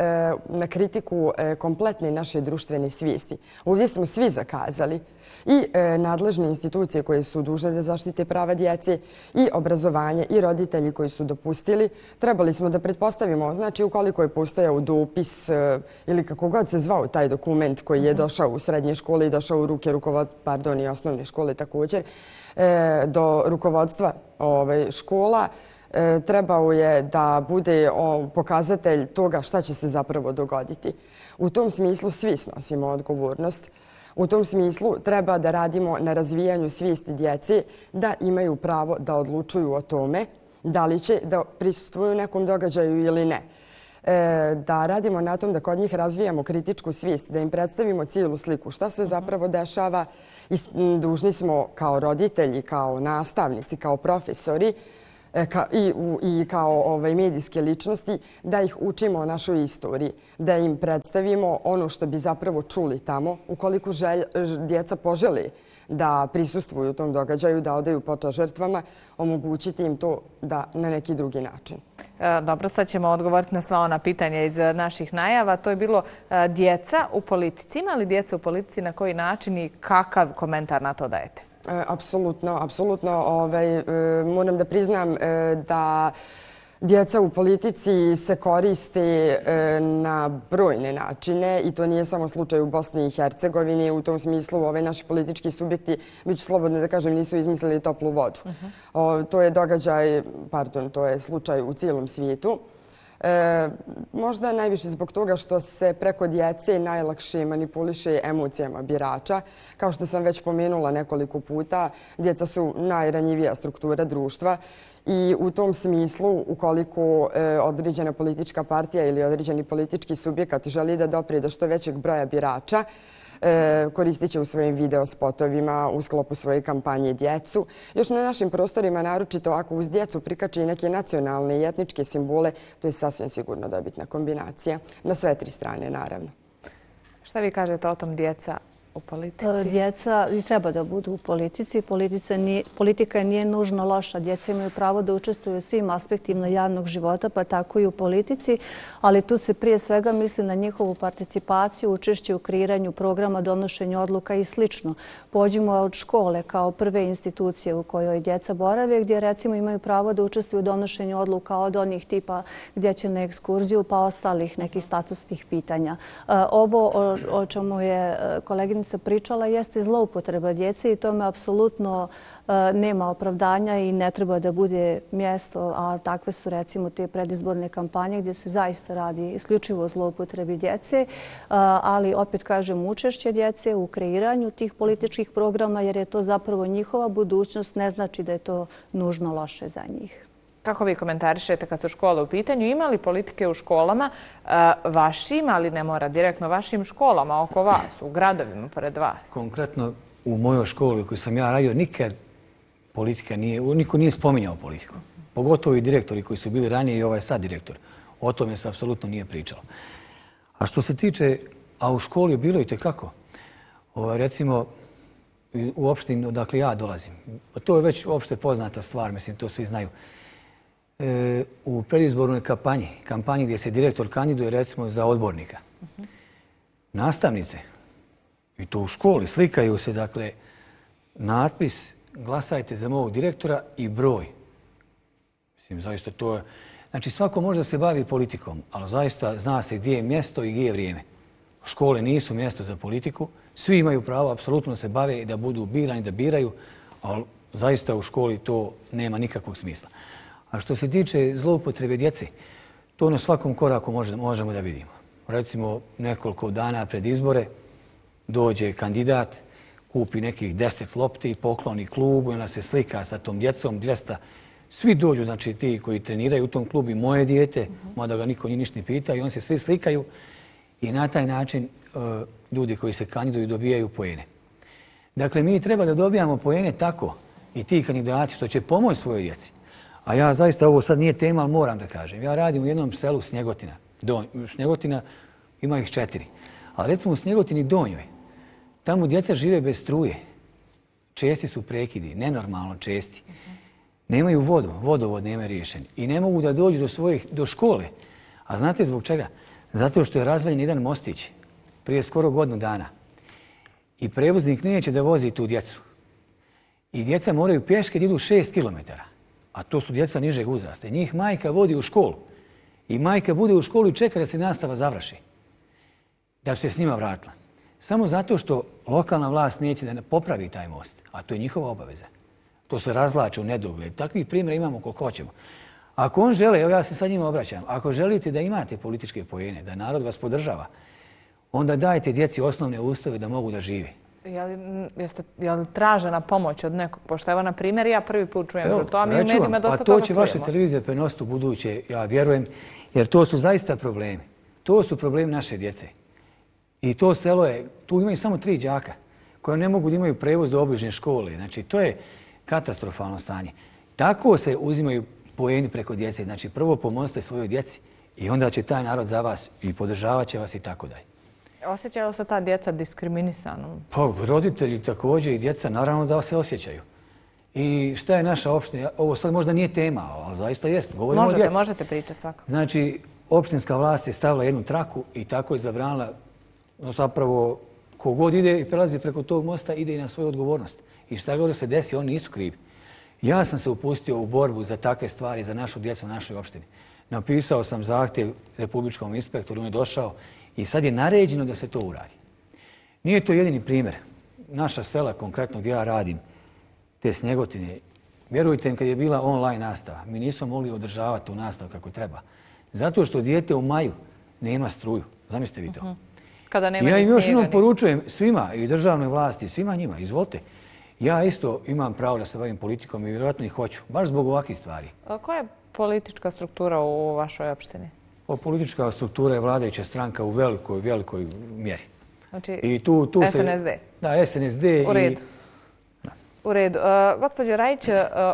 na kritiku kompletne naše društvene svijesti. Ovdje smo svi zakazali. I nadležne institucije koje su dužne da zaštite prava djece i obrazovanje i roditelji koji su dopustili. Trebali smo da pretpostavimo, znači ukoliko je postojao dopis ili kako god se zvao taj dokument koji je došao u srednje škole i došao u ruke i osnovne škole također, do rukovodstva škola, trebao je da bude pokazatelj toga šta će se zapravo dogoditi. U tom smislu svi snosimo odgovornost. U tom smislu treba da radimo na razvijanju svijesti djece da imaju pravo da odlučuju o tome da li će da prisustvuju nekom događaju ili ne. Da radimo na tom da kod njih razvijamo kritičku svijest, da im predstavimo cijelu sliku šta se zapravo dešava. Dužni smo kao roditelji, kao nastavnici, kao profesori i kao medijske ličnosti da ih učimo o našoj istoriji, da im predstavimo ono što bi zapravo čuli tamo. Ukoliko djeca požele da prisustvuju u tom događaju, da odaju počast žrtvama, omogućiti im to da na neki drugi način. Dobro, sad ćemo odgovoriti na sva ona pitanja iz naših najava. To je bilo djeca u politici. Ima li djeca u politici, na koji način i kakav komentar na to dajete? Apsolutno. Moram da priznam da djeca u politici se koriste na brojne načine i to nije samo slučaj u Bosni i Hercegovini. U tom smislu naši politički subjekti, bit ću slobodno da kažem, nisu izmislili toplu vodu. To je slučaj u cijelom svijetu. Možda najviše zbog toga što se preko djece najlakše manipuliše emocijama birača. Kao što sam već pomenula nekoliko puta, djeca su najranjivija struktura društva i u tom smislu, ukoliko određena politička partija ili određeni politički subjekat želi da doprije do što većeg broja birača, koristit će u svojim videospotovima u sklopu svoje kampanje djecu. Još na našim prostorima, naročito ako uz djecu prikači neke nacionalne i etničke simbole, to je sasvim sigurno dobitna kombinacija. Na sve tri strane, naravno. Šta vi kažete o tom djeca u politici? Djeca i treba da budu u politici. Politika nije nužno loša. Djeca imaju pravo da učestvuju u svim aspektima javnog života, pa tako i u politici, ali tu se prije svega misli na njihovu participaciju, učešće u kreiranju programa, donošenju odluka i sl. Pođimo od škole kao prve institucije u kojoj djeca borave, gdje recimo imaju pravo da učestvuju u donošenju odluka od onih tipa gdje će na ekskurziju pa ostalih nekih statusnih pitanja. Ovo o čemu je koleginica pričala jeste zloupotreba djece i tome apsolutno nema opravdanja i ne treba da bude mjesto, a takve su recimo te predizborne kampanje gdje se zaista radi isključivo o zloupotrebi djece, ali opet kažem učešće djece u kreiranju tih političkih programa jer je to zapravo njihova budućnost, ne znači da je to nužno loše za njih. Kako vi komentarišete kad su škole u pitanju? Ima li politike u školama vašim, ali ne mora direktno vašim školama oko vas, u gradovima pored vas? Konkretno u mojoj školi u kojoj sam ja radio nikad politika nije, niko nije spominjao politiku. Pogotovo i direktori koji su bili ranije i ovaj sad direktor. O tome se apsolutno nije pričalo. A što se tiče, a u školi je bilo i tekako. Recimo, u opštini odakle ja dolazim. To je već opšte poznata stvar, mislim, to svi znaju. U predizbornoj kampanji gdje se direktor kandiduje recimo za odbornika. Nastavnice, i to u školi, slikaju se, dakle, natpis glasajte za mog direktora i broj. Mislim, zaista to je... Znači, svako može da se bavi politikom, ali zaista zna se gdje je mjesto i gdje je vrijeme. Škole nisu mjesto za politiku. Svi imaju pravo apsolutno da se bave i da budu birani, da biraju, ali zaista u školi to nema nikakvog smisla. A što se tiče zloupotrebe djece, to na svakom koraku možemo da vidimo. Recimo, nekoliko dana pred izbore dođe kandidat, kupi nekih 10 lopti i pokloni klubu i onda se slika sa tom djecom, 200. Svi dođu, znači ti koji treniraju u tom klubu i moje dijete, mada ga niko nije ništa ne pita i oni se svi slikaju i na taj način ljudi koji se kandiduju dobijaju poene. Dakle, mi treba da dobijamo poene tako i ti kandidati što će pomoći svojoj djeci. A ja zaista, ovo sad nije tema, ali moram da kažem. Ja radim u jednom selu Snjegotina. Snjegotina ima ih 4. Ali recimo u Snjegotini Donjoj, tamo djeca žive bez struje. Česti su prekidi, nenormalno česti. Nemaju vodu, vodovod nema riješen. I ne mogu da dođu do škole. A znate zbog čega? Zato što je razvaljen jedan mostić prije skoro godinu dana. I prevoznik neće da vozi tu djecu. I djeca moraju pješke da idu 6 kilometara. A to su djeca nižeg uzrasta. Njih majka vodi u školu. I majka bude u školu i čeka da se nastava završi. Da bi se s njima vratila. Samo zato što lokalna vlast neće da popravi taj most. A to je njihova obaveza. To se razlače u nedogled. Takvih primjera imamo koliko hoćemo. Ako on žele, evo ja se sad njima obraćam, ako želite da imate političke poene, da narod vas podržava, onda dajte djeci osnovne uslove da mogu da žive. Je li tražena pomoć od nekog? Pošto evo, na primjer, ja prvi put čujem za to, a mi u medijima dosta toga čujemo. Pa to će vaše televizije prenositi u buduće, ja vjerujem, jer to su zaista problemi. To su problemi naše djece. I to selo je, tu imaju samo 3 đaka koje ne mogu da imaju prevoz do obližnje škole. Znači, to je katastrofalno stanje. Tako se uzimaju poeni preko djece. Znači, prvo pomozite svojoj djeci i onda će taj narod za vas i podržavat će vas i tako dalje. Osjećaju li se ta djeca diskriminisanom? Pa, roditelji također i djeca naravno da se osjećaju. I šta je naša opština? Ovo sad možda nije tema, ali zaista jest. Govorimo o djeci. Možete pričati svakako. Znači, opštinska vlast je stavila jednu traku i tako je zabranila, zapravo, kogod ide i prelazi preko tog mosta, ide i na svoju odgovornost. I šta god se desi, oni nisu krivi. Ja sam se upustio u borbu za takve stvari, za našu djecu u našoj opštini. Napisao sam zahtjev republičkom inspektoru, on je došao i sad je naređeno da se to uradi. Nije to jedini primjer. Naša sela, konkretno gdje ja radim, te Snjegotine, vjerujte im, kad je bila online nastava, mi nismo mogli održavati tu nastavu kako treba. Zato što dijete u maju nema struju. Zamislite vi to. Kada nema ja ni im još snijega, jednom poručujem svima, i državnoj vlasti, svima njima, izvolite. Ja isto imam pravo da se bavim politikom i vjerojatno i hoću, baš zbog ovakvih stvari. Koja je politička struktura u vašoj opštini? Politička struktura je vladajuća stranka u velikoj mjeri. Znači, I tu SNSD? Da, SNSD. U redu. U redu. Gospođo Rajić,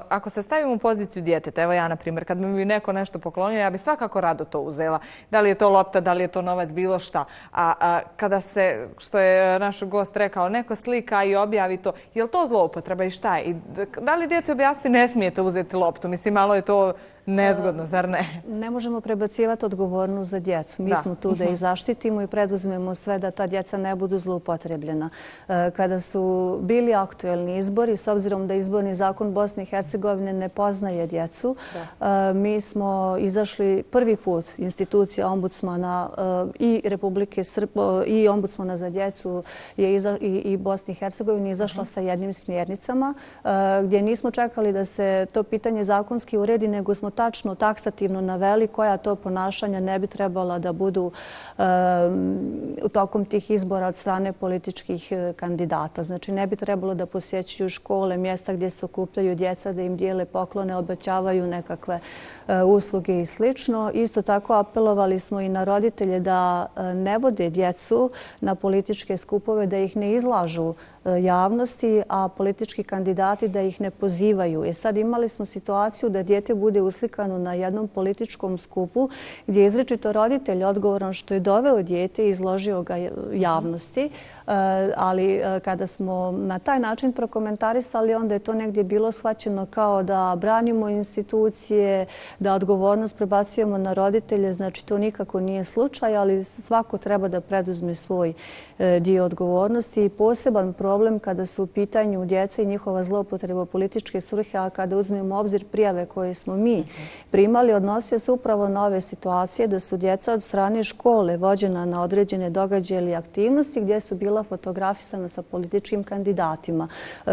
ako se stavimo u poziciju djeteta, evo ja na primjer, kad bi mi neko nešto poklonio, ja bi svakako rado to uzela. Da li je to lopta, da li je to novac, bilo šta. A kada se, što je naš gost rekao, neko slika i objavi to, je li to zloupotreba i šta je? I da li djeci objasniti ne smijete uzeti loptu? Mislim, malo je to nezgodno, zar ne? Ne možemo prebacivati odgovornost za djecu. Mi smo tu da ih zaštitimo i preduzmemo sve da ta djeca ne budu zloupotrebljena. Kada su bili aktuelni izbori, s obzirom da izborni zakon Bosne i Hercegovine ne poznaje djecu, mi smo izašli prvi put, institucija ombudsmana i Republike Srbije i ombudsmana za djecu i Bosne i Hercegovine izašla sa jednim smjernicama gdje nismo čekali da se to pitanje zakonski uredi, nego smo tačno, taksativno naveli koja to ponašanja ne bi trebala da budu u tokom tih izbora od strane političkih kandidata. Znači, ne bi trebalo da posjećuju škole, mjesta gdje se okupljaju djeca, da im dijele poklone, obećavaju nekakve usluge i slično. Isto tako apelovali smo i na roditelje da ne vode djecu na političke skupove, da ih ne izlažu javnosti, a politički kandidati da ih ne pozivaju. Sad imali smo situaciju da dijete bude uslikano na jednom političkom skupu gdje je izričito roditelj odgovoran što je doveo dijete i izložio ga javnosti, ali kada smo na taj način prokomentarisali, onda je to negdje bilo shvaćeno kao da branimo institucije, da odgovornost prebacujemo na roditelje. Znači, to nikako nije slučaj, ali svako treba da preduzme svoj dio odgovornosti. I poseban problem kada su u pitanju djeca i njihova zloupotreba političke svrhe, a kada uzmemo u obzir prijave koje smo mi primali, odnosio se upravo na ove situacije da su djeca od strane škole vođena na određene događaje ili aktivnosti gdje su bila fotografisana sa političkim kandidatima.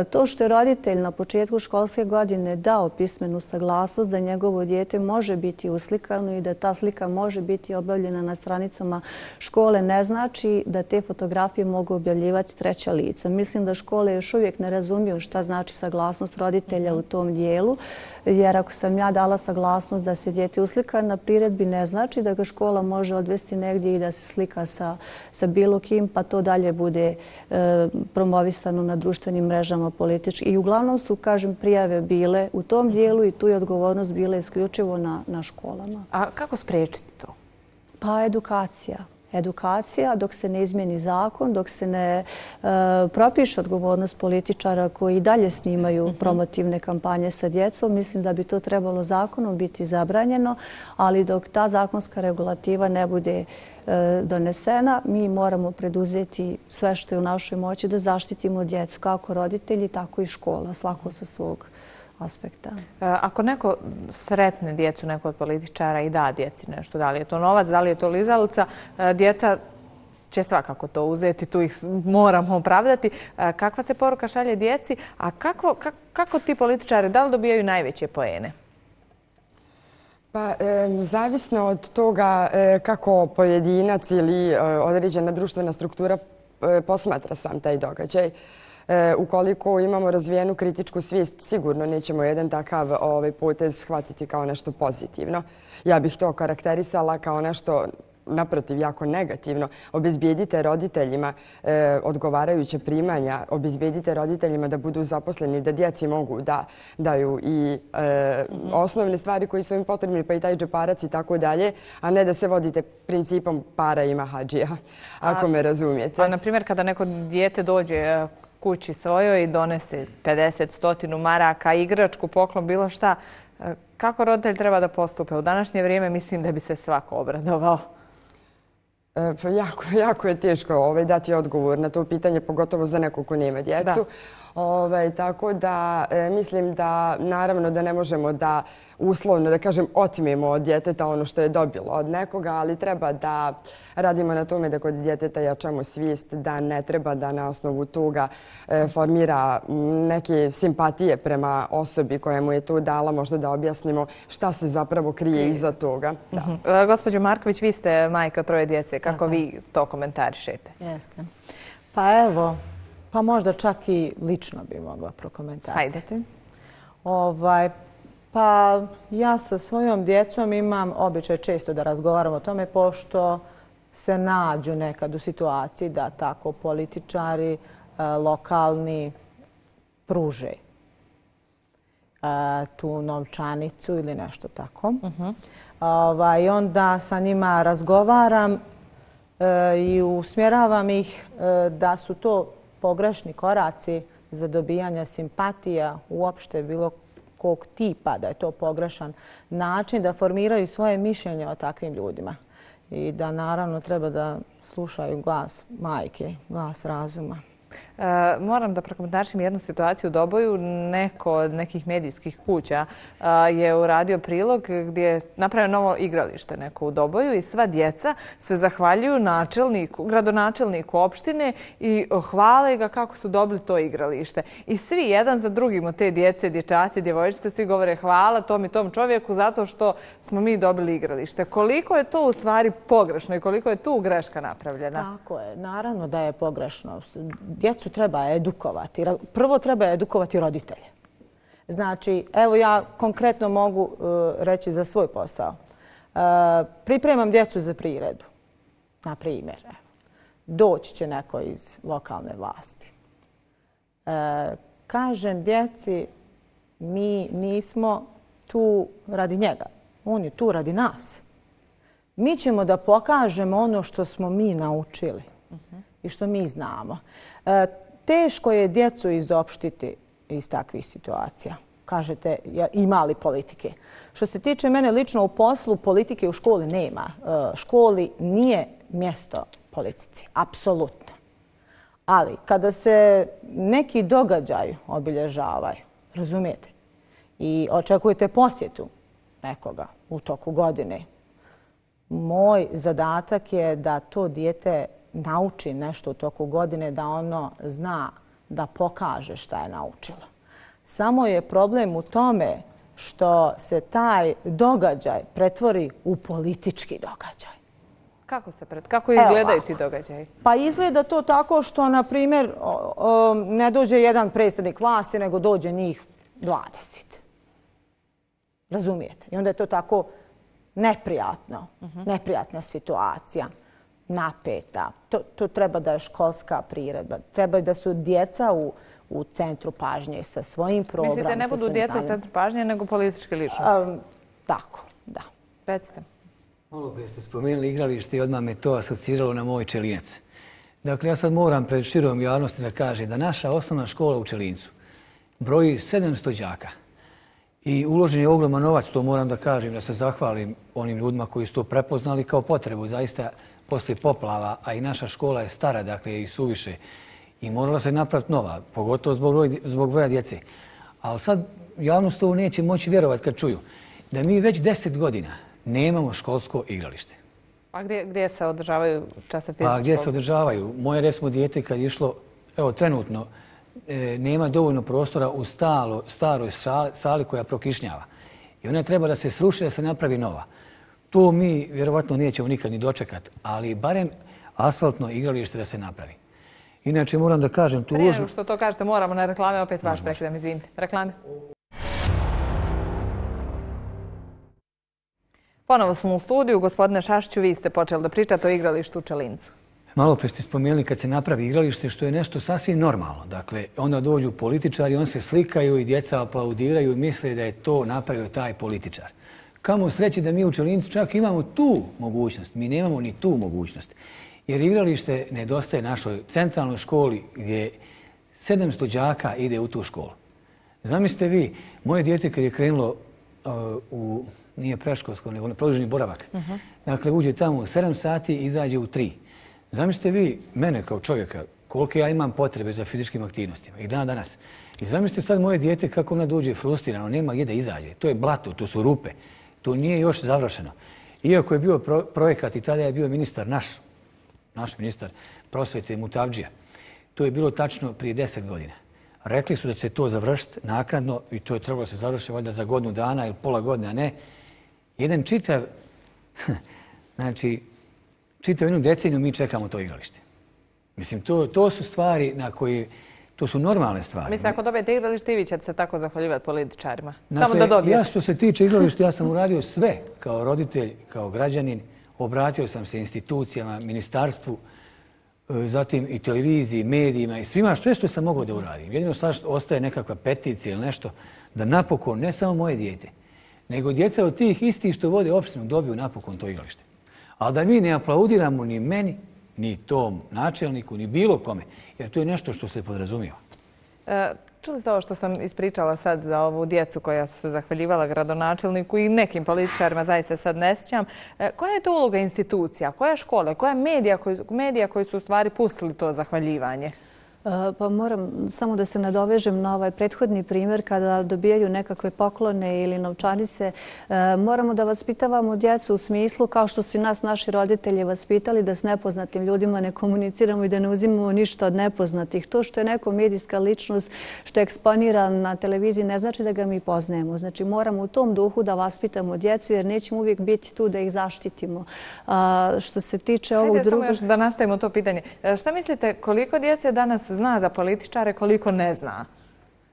To što je roditelj na početku školske godine dao pismenu saglasnost da njegovo dijete može biti uslikano i da ta slika može biti objavljena na stranicama škole, ne znači da te fotografije mogu objavljivati treća lica. Mislim da škole još uvijek ne razumiju šta znači saglasnost roditelja u tom dijelu, jer ako sam ja dala saglasnost da se dijete uslika na priredbi, ne znači da ga škola može odvesti negdje i da se slika sa bilo kim, pa to dalje bude promovisano na društvenim mrežama politički. I uglavnom su, kažem, prijave bile u tom dijelu i tu je odgovornost bila isključivo na školama. A kako spriječiti to? Pa edukacija. Edukacija dok se ne izmijeni zakon, dok se ne propiše odgovornost političara koji dalje snimaju promotivne kampanje sa djecom. Mislim da bi to trebalo zakonom biti zabranjeno, ali dok ta zakonska regulativa ne bude donesena, mi moramo preduzeti sve što je u našoj moći da zaštitimo djecu, kako roditelji, tako i škola, svako sa svog aspekta. Ako neko sretne djecu, neko od političara i da djeci nešto, da li je to novac, da li je to lizalica, djeca će svakako to uzeti, tu ih moramo opravdati. Kakva se poruka šalje djeci, a kako ti političari, da li dobijaju najveće poene? Pa, zavisno od toga kako pojedinac ili određena društvena struktura posmatra sam taj događaj. Ukoliko imamo razvijenu kritičku svijest, sigurno nećemo jedan takav potez shvatiti kao nešto pozitivno. Ja bih to karakterisala kao nešto, naprotiv, jako negativno. Obezbijedite roditeljima odgovarajuće primanja, obezbijedite roditeljima da budu zaposleni, da djeci mogu da daju i osnovne stvari koji su im potrebni, pa i taj džeparac i tako dalje, a ne da se vodite principom para ima hadžija, ako me razumijete. Pa, na primjer, kada neko dijete dođe kući svojoj i donese 50-100 maraka, igračku, poklon, bilo šta, kako roditelj treba da postupe? U današnje vrijeme mislim da bi se svako obradovao. Jako je teško dati odgovor na to pitanje, pogotovo za nekog ko nema djecu. Tako da mislim da naravno da ne možemo da uslovno, da kažem, otmijemo od djeteta ono što je dobilo od nekoga, ali treba da radimo na tome da kod djeteta jačamo svijest, da ne treba da na osnovu toga formira neke simpatije prema osobi koja mu je to dala, možda da objasnimo šta se zapravo krije iza toga. Gospođo Marković, vi ste majka 3 djece. Kako vi to komentarišete? Jeste. Pa evo, pa možda čak i lično bi mogla prokomentarisati. Pa ja sa svojom djecom imam običaj često da razgovaram o tome, pošto se nađu nekad u situaciji da tako političari lokalni pruže tu novčanicu ili nešto tako. I onda sa njima razgovaram i usmjeravam ih da su to pogrešni koraci za dobijanje simpatija uopšte bilo kog tipa, da je to pogrešan način da formiraju svoje mišljenje o takvim ljudima. I da naravno treba da slušaju glas majke, glas razuma. Moram da prokomentarišem jednu situaciju u Doboju. Neko od nekih medijskih kuća je uradio prilog gdje je napravio novo igralište neko u Doboju i sva djeca se zahvaljuju gradonačelniku opštine i hvale ga kako su dobili to igralište. I svi jedan za drugim od te djece, dječaci, djevojčice, svi govore hvala tom i tom čovjeku zato što smo mi dobili igralište. Koliko je to u stvari pogrešno i koliko je tu greška napravljena? Tako je. Naravno da je pogrešno. Djecu treba edukovati. Prvo treba edukovati roditelje. Znači, evo ja konkretno mogu reći za svoj posao. Pripremam djecu za priredbu. Na primjer, doći će neko iz lokalne vlasti. Kažem djeci, mi nismo tu radi njega. On je tu radi nas. Mi ćemo da pokažemo ono što smo mi naučili i što mi znamo. Teško je djecu izopštiti iz takvih situacija. Kažete, ima li politike? Što se tiče mene lično u poslu, politike u školi nema. Školi nije mjesto politici, apsolutno. Ali kada se neki događaj obilježavaju, razumijete, i očekujete posjetu nekoga u toku godine, moj zadatak je da to dijete nauči nešto u toku godine, da ono zna da pokaže šta je naučilo. Samo je problem u tome što se taj događaj pretvori u politički događaj. Kako izgledaju ti događaji? Pa izgleda to tako što, na primjer, ne dođe jedan predstavnik vlasti, nego dođe njih 20. Razumijete? I onda je to tako neprijatno, neprijatna situacija. Napeta. To treba da je školska priredba. Treba da su djeca u centru pažnje sa svojim programom. Mislite, ne budu djeca u centru pažnje, nego političke ličnosti? Tako, da. Recite. Malo prije ste spomenuli igralište i odmah me to asociralo na moj Čelinec. Dakle, ja sad moram pred širom javnosti da kažem da naša osnovna škola u Čelincu broji 700 đaka. I uložen je ogroman novac, to moram da kažem, da se zahvalim onim ljudima koji su to prepoznali kao potrebu. Zaista, poslije poplava, a i naša škola je stara, dakle i suviše, i morala se napraviti nova, pogotovo zbog broja djece. Ali sad javnost ovo neće moći vjerovati kad čuju da mi već 10 godina nemamo školsko igralište. A gdje se održavaju časovi fizičke škole? Pa gdje se održavaju? Moje, recimo, dijete kad je išlo, evo trenutno, nema dovoljno prostora u staroj sali koja prokišnjava. I ona treba da se sruši, da se napravi nova. To mi vjerovatno nećemo nikad ni dočekati, ali barem asfaltno igralište da se napravi. Inače, moram da kažem... Prije nego što to kažete, moramo na reklame, opet vaš prekidam, izvinite. Reklame. Ponovo smo u studiju. Gospodine Šašiću, vi ste počeli da pričate o igralištu u Čelincu. Malo pre ste spomenuli kad se napravi igralište, što je nešto sasvim normalno. Dakle, onda dođu političari, on se slikaju i djeca aplaudiraju i misle da je to napravio taj političar. Kamo sreći da mi u Čelincu čak imamo tu mogućnost. Mi nemamo ni tu mogućnost. Jer igralište nedostaje našoj centralnoj školi gdje 700 đaka ide u tu školu. Zamislite vi, moje dijete kad je krenulo nije preškolsko, nego na produženi boravak. Dakle, uđe tamo u 7 sati i izađe u 3. Zamislite vi mene kao čovjeka, koliko ja imam potrebe za fizičkim aktivnostima i danas. I zamislite sad moje dijete kako ona dođe frustrirano, nema gdje da izađe. To je blato, to su rupe. To nije još završeno. Iako je bio projekat i tada je bio ministar naš ministar prosvete Mutavdžija. To je bilo tačno prije 10 godina. Rekli su da će se to završiti naknadno i to je trebalo se završiti valjda za godinu dana ili pola godine, a ne. Jedan čitav, znači, čitav jednu deceniju mi čekamo to igralište. Mislim, to su stvari na koje, to su normalne stvari. Mislim, ako dobijete igralište i vi ćete se tako zahvaljivati političarima. Samo da dobijete. Ja što se tiče igrališta, ja sam uradio sve kao roditelj, kao građanin. Obratio sam se institucijama, ministarstvu, zatim i televiziji, medijima i svima, sve što sam mogao da uradim. Jedino sad ostaje nekakva peticija ili nešto da napokon, ne samo moje dijete, nego djeca od tih istih što vode opštinu dobiju napokon to igralište. Ali da mi ne aplaudiramo ni meni, ni tom načelniku, ni bilo kome, jer to je nešto što se podrazumijeva. Čuli ste ovo što sam ispričala sad za ovu djecu koja su se zahvaljivala gradonačelniku i nekim političarima, zaista sad ne sjećam. Koja je to uloga institucija, koja škole, koja medija koji su u stvari pustili to zahvaljivanje? Pa moram samo da se nadovežem na ovaj prethodni primjer kada dobijaju nekakve poklone ili novčanice. Moramo da vaspitavamo djecu u smislu kao što su nas naši roditelji vaspitali da s nepoznatim ljudima ne komuniciramo i da ne uzimamo ništa od nepoznatih. To što je neko medijska ličnost, što je eksponiran na televiziji, ne znači da ga mi poznajemo. Znači moramo u tom duhu da vaspitamo djecu jer nećemo uvijek biti tu da ih zaštitimo. Što se tiče ovog drugog... Hajde samo još da nastavimo to pitanje. Šta mislite koliko djece danas zna za političare, koliko ne zna?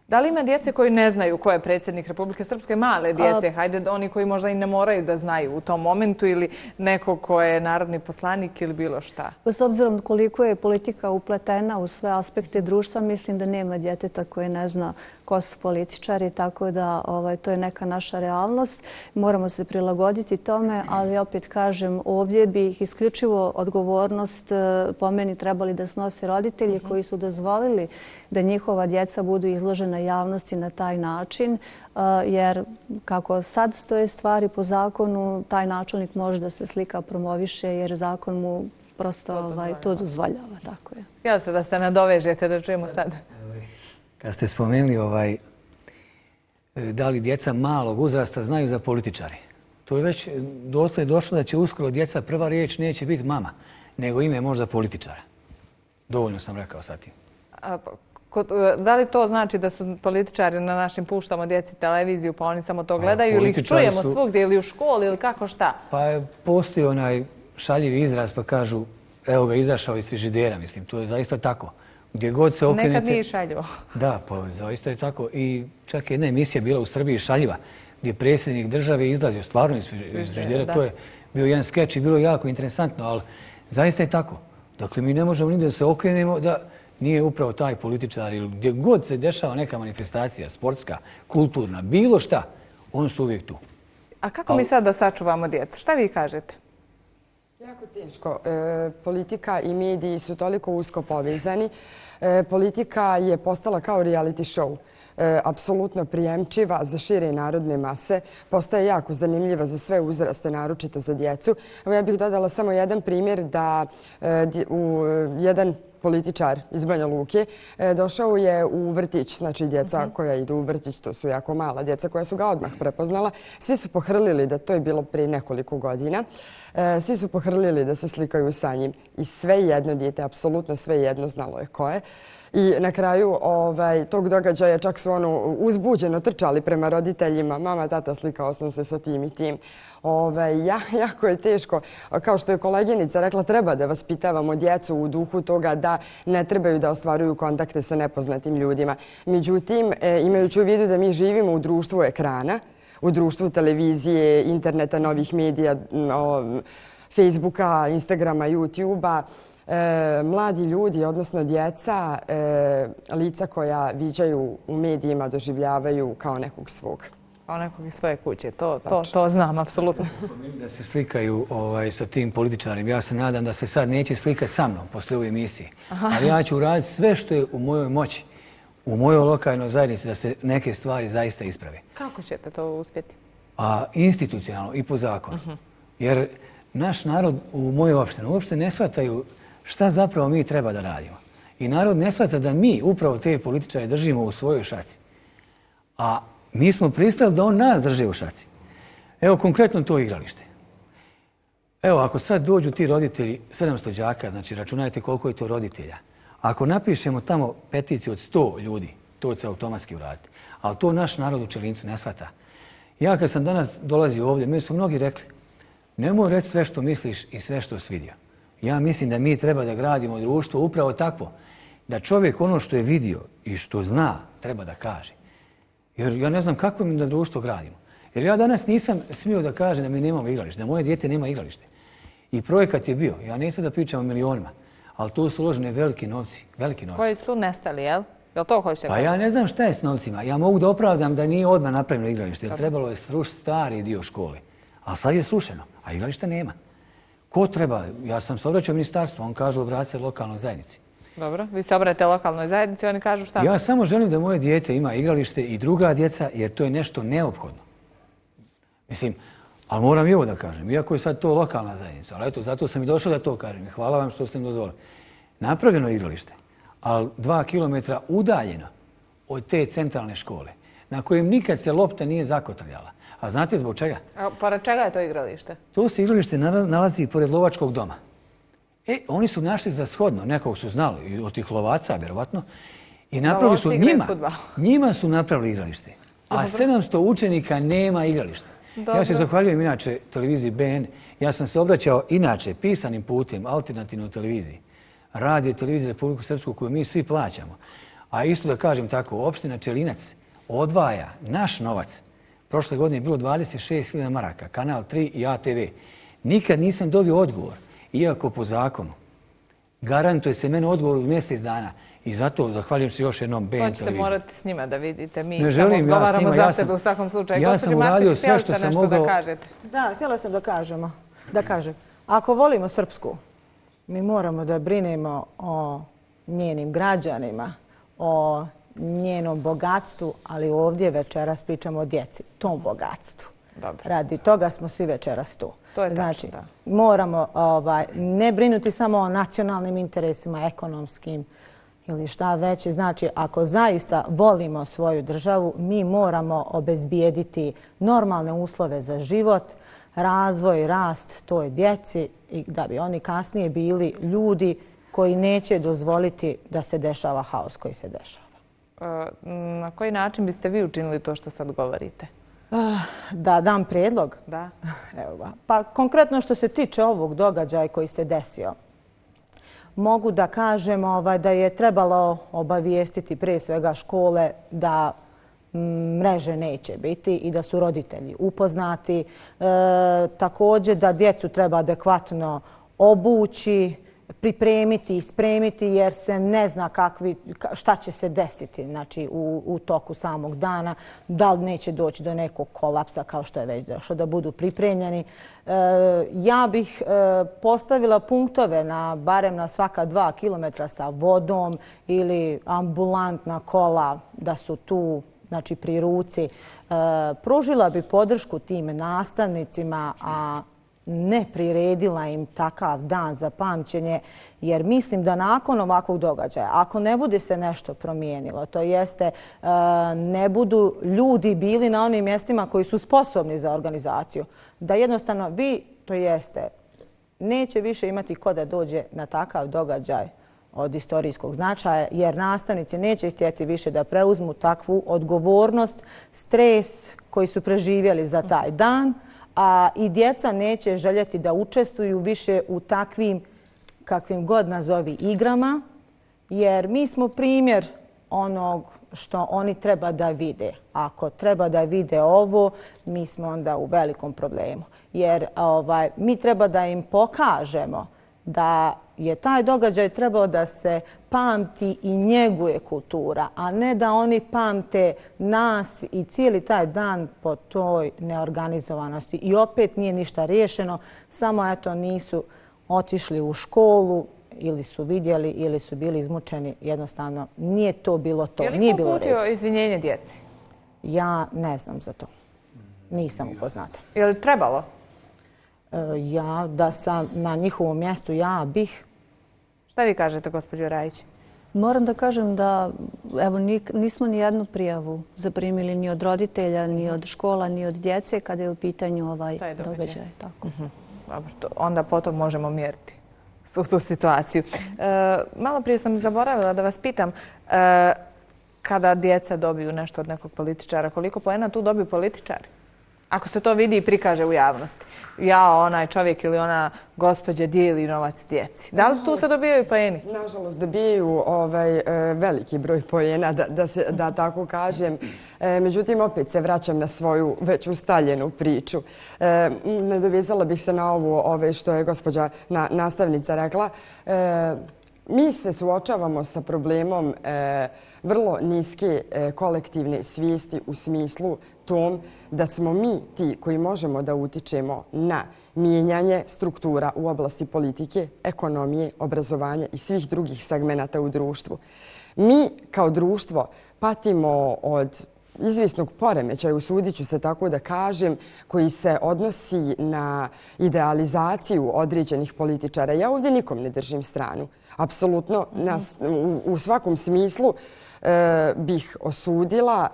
Da li ima djece koji ne znaju ko je predsjednik Republike Srpske? Male djece, hajde oni koji možda i ne moraju da znaju u tom momentu ili neko ko je narodni poslanik ili bilo šta? S obzirom koliko je politika upletena u sve aspekte društva, mislim da nema djeteta koje ne zna ko su političari, tako da to je neka naša realnost. Moramo se prilagoditi tome, ali opet kažem, ovdje bi ih isključivo odgovornost po meni trebali da snose roditelji koji su dozvolili da njihova djeca budu izložena javnosti na taj način, jer kako sad stoje stvari po zakonu, taj načelnik može da se slika promoviše jer zakon mu prosto to dozvoljava. Tako je. Jel se da se nadovežete da čujemo sad? Kad ste spomenuli da li djeca malog uzrasta znaju za političare, to je već dotle došlo da će uskoro djeca prva riječ neće biti mama, nego ime možda političara. Dovoljno sam rekao sad tim. Da li to znači da su političari na našim puštamo djeci televiziju pa oni samo to gledaju ili ih čujemo svugdje ili u školi ili kako šta? Pa postoji onaj šaljivi izraz pa kažu evo ga izašao iz frižidera, mislim, to je zaista tako. Gdje god se okrenete... Nekad nije šaljivo. Da, pa zaista je tako. I čak jedna emisija bila u Srbiji šaljiva gdje predsjednik države izlazio stvarno iz frižidera. To je bio jedan skeč i bilo jako interesantno, ali zaista je tako. Dakle, mi ne možemo ni da se okrenemo da nije upravo taj političar ili gdje god se dešava neka manifestacija, sportska, kulturna, bilo šta, oni su uvijek tu. A kako mi sad da sačuvamo djecu? Šta vi kažete? Jako teško. Politika i mediji su toliko usko povezani. Politika je postala kao reality show. Apsolutno prijemčiva za šire narodne mase. Postaje jako zanimljiva za sve uzraste, naročito za djecu. Ja bih dodala samo jedan primjer da jedan političar iz Banja Luke došao je u vrtić, znači djeca koja idu u vrtić, to su jako mala djeca koja su ga odmah prepoznala. Svi su pohrlili da to je bilo prije nekoliko godina. Svi su pohrlili da se slikaju sa njim i sve jedno dijete, apsolutno sve jedno znalo je ko je. I na kraju tog događaja čak su uzbuđeno trčali prema roditeljima. Mama, tata, slikao sam se sa tim i tim. Jako je teško. Kao što je koleginica rekla, treba da vaspitavamo djecu u duhu toga da ne trebaju da ostvaruju kontakte sa nepoznatim ljudima. Međutim, imajući u vidu da mi živimo u društvu ekrana, u društvu televizije, interneta, novih medija, Facebooka, Instagrama, YouTubea, mladi ljudi, odnosno djeca, lica koja viđaju u medijima doživljavaju kao nekog svog. Kao nekog iz svoje kuće, to znam, apsolutno. Da se slikaju sa tim političarima. Ja se nadam da se sad neće slikati sa mnom posle ove emisije. Ali ja ću uraditi sve što je u mojoj moći, u mojoj lokalnoj zajednici da se neke stvari zaista isprave. Kako ćete to uspjeti? Institucionalno i po zakonu. Jer naš narod u mojoj opštini uopšte ne shvataju šta zapravo mi treba da radimo. I narod ne shvata da mi upravo te političare držimo u svojoj šaci. A mi smo pristali da on nas drži u šaci. Evo konkretno to igralište. Evo ako sad dođu ti roditelji, 700 đaka, znači računajte koliko je to roditelja. Ako napišemo tamo peticiju od 100 ljudi, to će se automatski uraditi. Ali to naš narod u Čelincu ne shvata. Ja kad sam danas dolazio ovdje, meni su mnogi rekli nemoj reći sve što misliš i sve što si vidio. Ja mislim da mi treba da gradimo društvo upravo takvo. Da čovjek ono što je vidio i što zna treba da kaže. Jer ja ne znam kako mi da društvo gradimo. Jer ja danas nisam smio da kažem da mi nemamo igralište, da moje dijete nema igralište. I projekat je bio. Ja neću da pričam o milionima, ali tu su uložene veliki novci. Koji su nestali, jel? Jel to hoćete Pa kažete? ja ne znam šta je s novcima. Ja mogu da opravdam da nije odmah napravljeno igralište, jer trebalo je srušiti stari dio škole. A sad je srušeno, a igrališta nema. Ko treba? Ja sam se obraćao ministarstvu, on kaže obrati se lokalnoj zajednici. Dobro, vi se obratite lokalnoj zajednici, oni kažu šta? Ja samo želim da moje dijete ima igralište i druga djeca, jer to je nešto neophodno. Mislim, ali moram i ovo da kažem, iako je sad to lokalna zajednica, ali eto, zato sam i došao da to kažem. Hvala vam što ste mi dozvolili. Napravljeno igralište, ali 2 kilometra udaljeno od te centralne škole, na kojem nikad se lopta nije zakotrljala. A znate zbog čega? A pored čega je to igralište? To se igralište nalazi pored lovačkog doma. Oni su našli za shodno, nekog su znali, od tih lovaca, vjerovatno, i napravili su njima su napravili igralište. A 700 učenika nema igralište. Ja se zahvaljujem inače televiziji BN. Ja sam se obraćao inače pisanim putem alternativnoj televiziji, radio i televiziji Republiku Srpsku koju mi svi plaćamo. A isto da kažem tako, opština Čelinac odvaja naš novac. Prošle godine je bilo 26.000 maraka, Kanal 3 i ATV. Nikad nisam dobio odgovor, iako po zakonu garantuje se meni odgovor u mjesec dana. I zato zahvaljujem se još jednom BN televiziji. To ćete morati s njima da vidite. Mi ne samo želim, odgovaramo za sebe u svakom slučaju. Ja sam uradio sve što sam mogao. Da, htjela sam da kažem. Ako volimo Srpsku, mi moramo da brinemo o njenim građanima, o njenom bogatstvu, ali ovdje večeras pričamo o djeci, tom bogatstvu. Dobro. Radi toga smo svi večeras tu. To je tačno, znači, da. Moramo ne brinuti samo o nacionalnim interesima, ekonomskim ili šta već. Znači, ako zaista volimo svoju državu, mi moramo obezbijediti normalne uslove za život, razvoj, rast toj djeci i da bi oni kasnije bili ljudi koji neće dozvoliti da se dešava haos koji se dešava. Na koji način biste vi učinili to što sad govorite? Da dam prijedlog? Da. Evo ga. Pa konkretno što se tiče ovog događaja koji se desio, mogu da kažem da je trebalo obavijestiti prije svega škole da mreže neće biti i da su roditelji upoznati. Također da djecu treba adekvatno obući, pripremiti i spremiti jer se ne zna šta će se desiti znači, u toku samog dana, da li neće doći do nekog kolapsa kao što je već došlo, da budu pripremljeni. Ja bih postavila punktove barem na svaka 2 kilometra sa vodom ili ambulantna kola da su tu znači, pri ruci. Pružila bi podršku tim nastavnicima, a ne priredila im takav dan za pamćenje, jer mislim da nakon ovakvog događaja, ako ne bude se nešto promijenilo, to jeste ne budu ljudi bili na onim mjestima koji su sposobni za organizaciju, da jednostavno vi, to jeste, neće više imati ko da dođe na takav događaj od istorijskog značaja, jer nastavnici neće htjeti više da preuzmu takvu odgovornost, stres koji su preživjeli za taj dan, a i djeca neće željeti da učestvuju više u takvim, kakvim god nazovi, igrama, jer mi smo primjer onog što oni treba da vide. Ako treba da vide ovo, mi smo onda u velikom problemu. Jer mi treba da im pokažemo da je taj događaj trebao da se pamti i njeguje kultura, a ne da oni pamte nas i cijeli taj dan po toj neorganizovanosti. I opet nije ništa riješeno, samo eto nisu otišli u školu ili su vidjeli ili su bili izmučeni. Jednostavno nije to bilo to. Je li ko uputio izvinjenje djeci? Ja ne znam za to. Nisam upoznata. Je li trebalo? Ja, da sam na njihovom mjestu, ja bih. Šta vi kažete, gospođo Rajić? Moram da kažem da evo, nismo ni jednu prijavu zaprimili ni od roditelja, ni od škola, ni od djece kada je u pitanju ovaj događaj. Tako. Dobro, onda potom možemo mjeriti tu situaciju. Malo prije sam zaboravila da vas pitam, kada djeca dobiju nešto od nekog političara, koliko poena tu dobiju političari? Ako se to vidi i prikaže u javnosti. Onaj čovjek ili ona gospođa dijeli novac djeci. Da li tu se dobijaju poeni? Nažalost, dobijaju veliki broj poena, da tako kažem. Međutim, opet se vraćam na svoju već ustaljenu priču. Nadovezala bih se na ovo što je gospođa nastavnica rekla. Mi se suočavamo sa problemom vrlo niske kolektivne svijesti u smislu tom da smo mi ti koji možemo da utičemo na mijenjanje struktura u oblasti politike, ekonomije, obrazovanja i svih drugih segmenata u društvu. Mi kao društvo patimo od izvisnog poremećaja, usudit ću se tako da kažem, koji se odnosi na idealizaciju određenih političara. Ja ovdje nikom ne držim stranu. Apsolutno, u svakom smislu bih osudila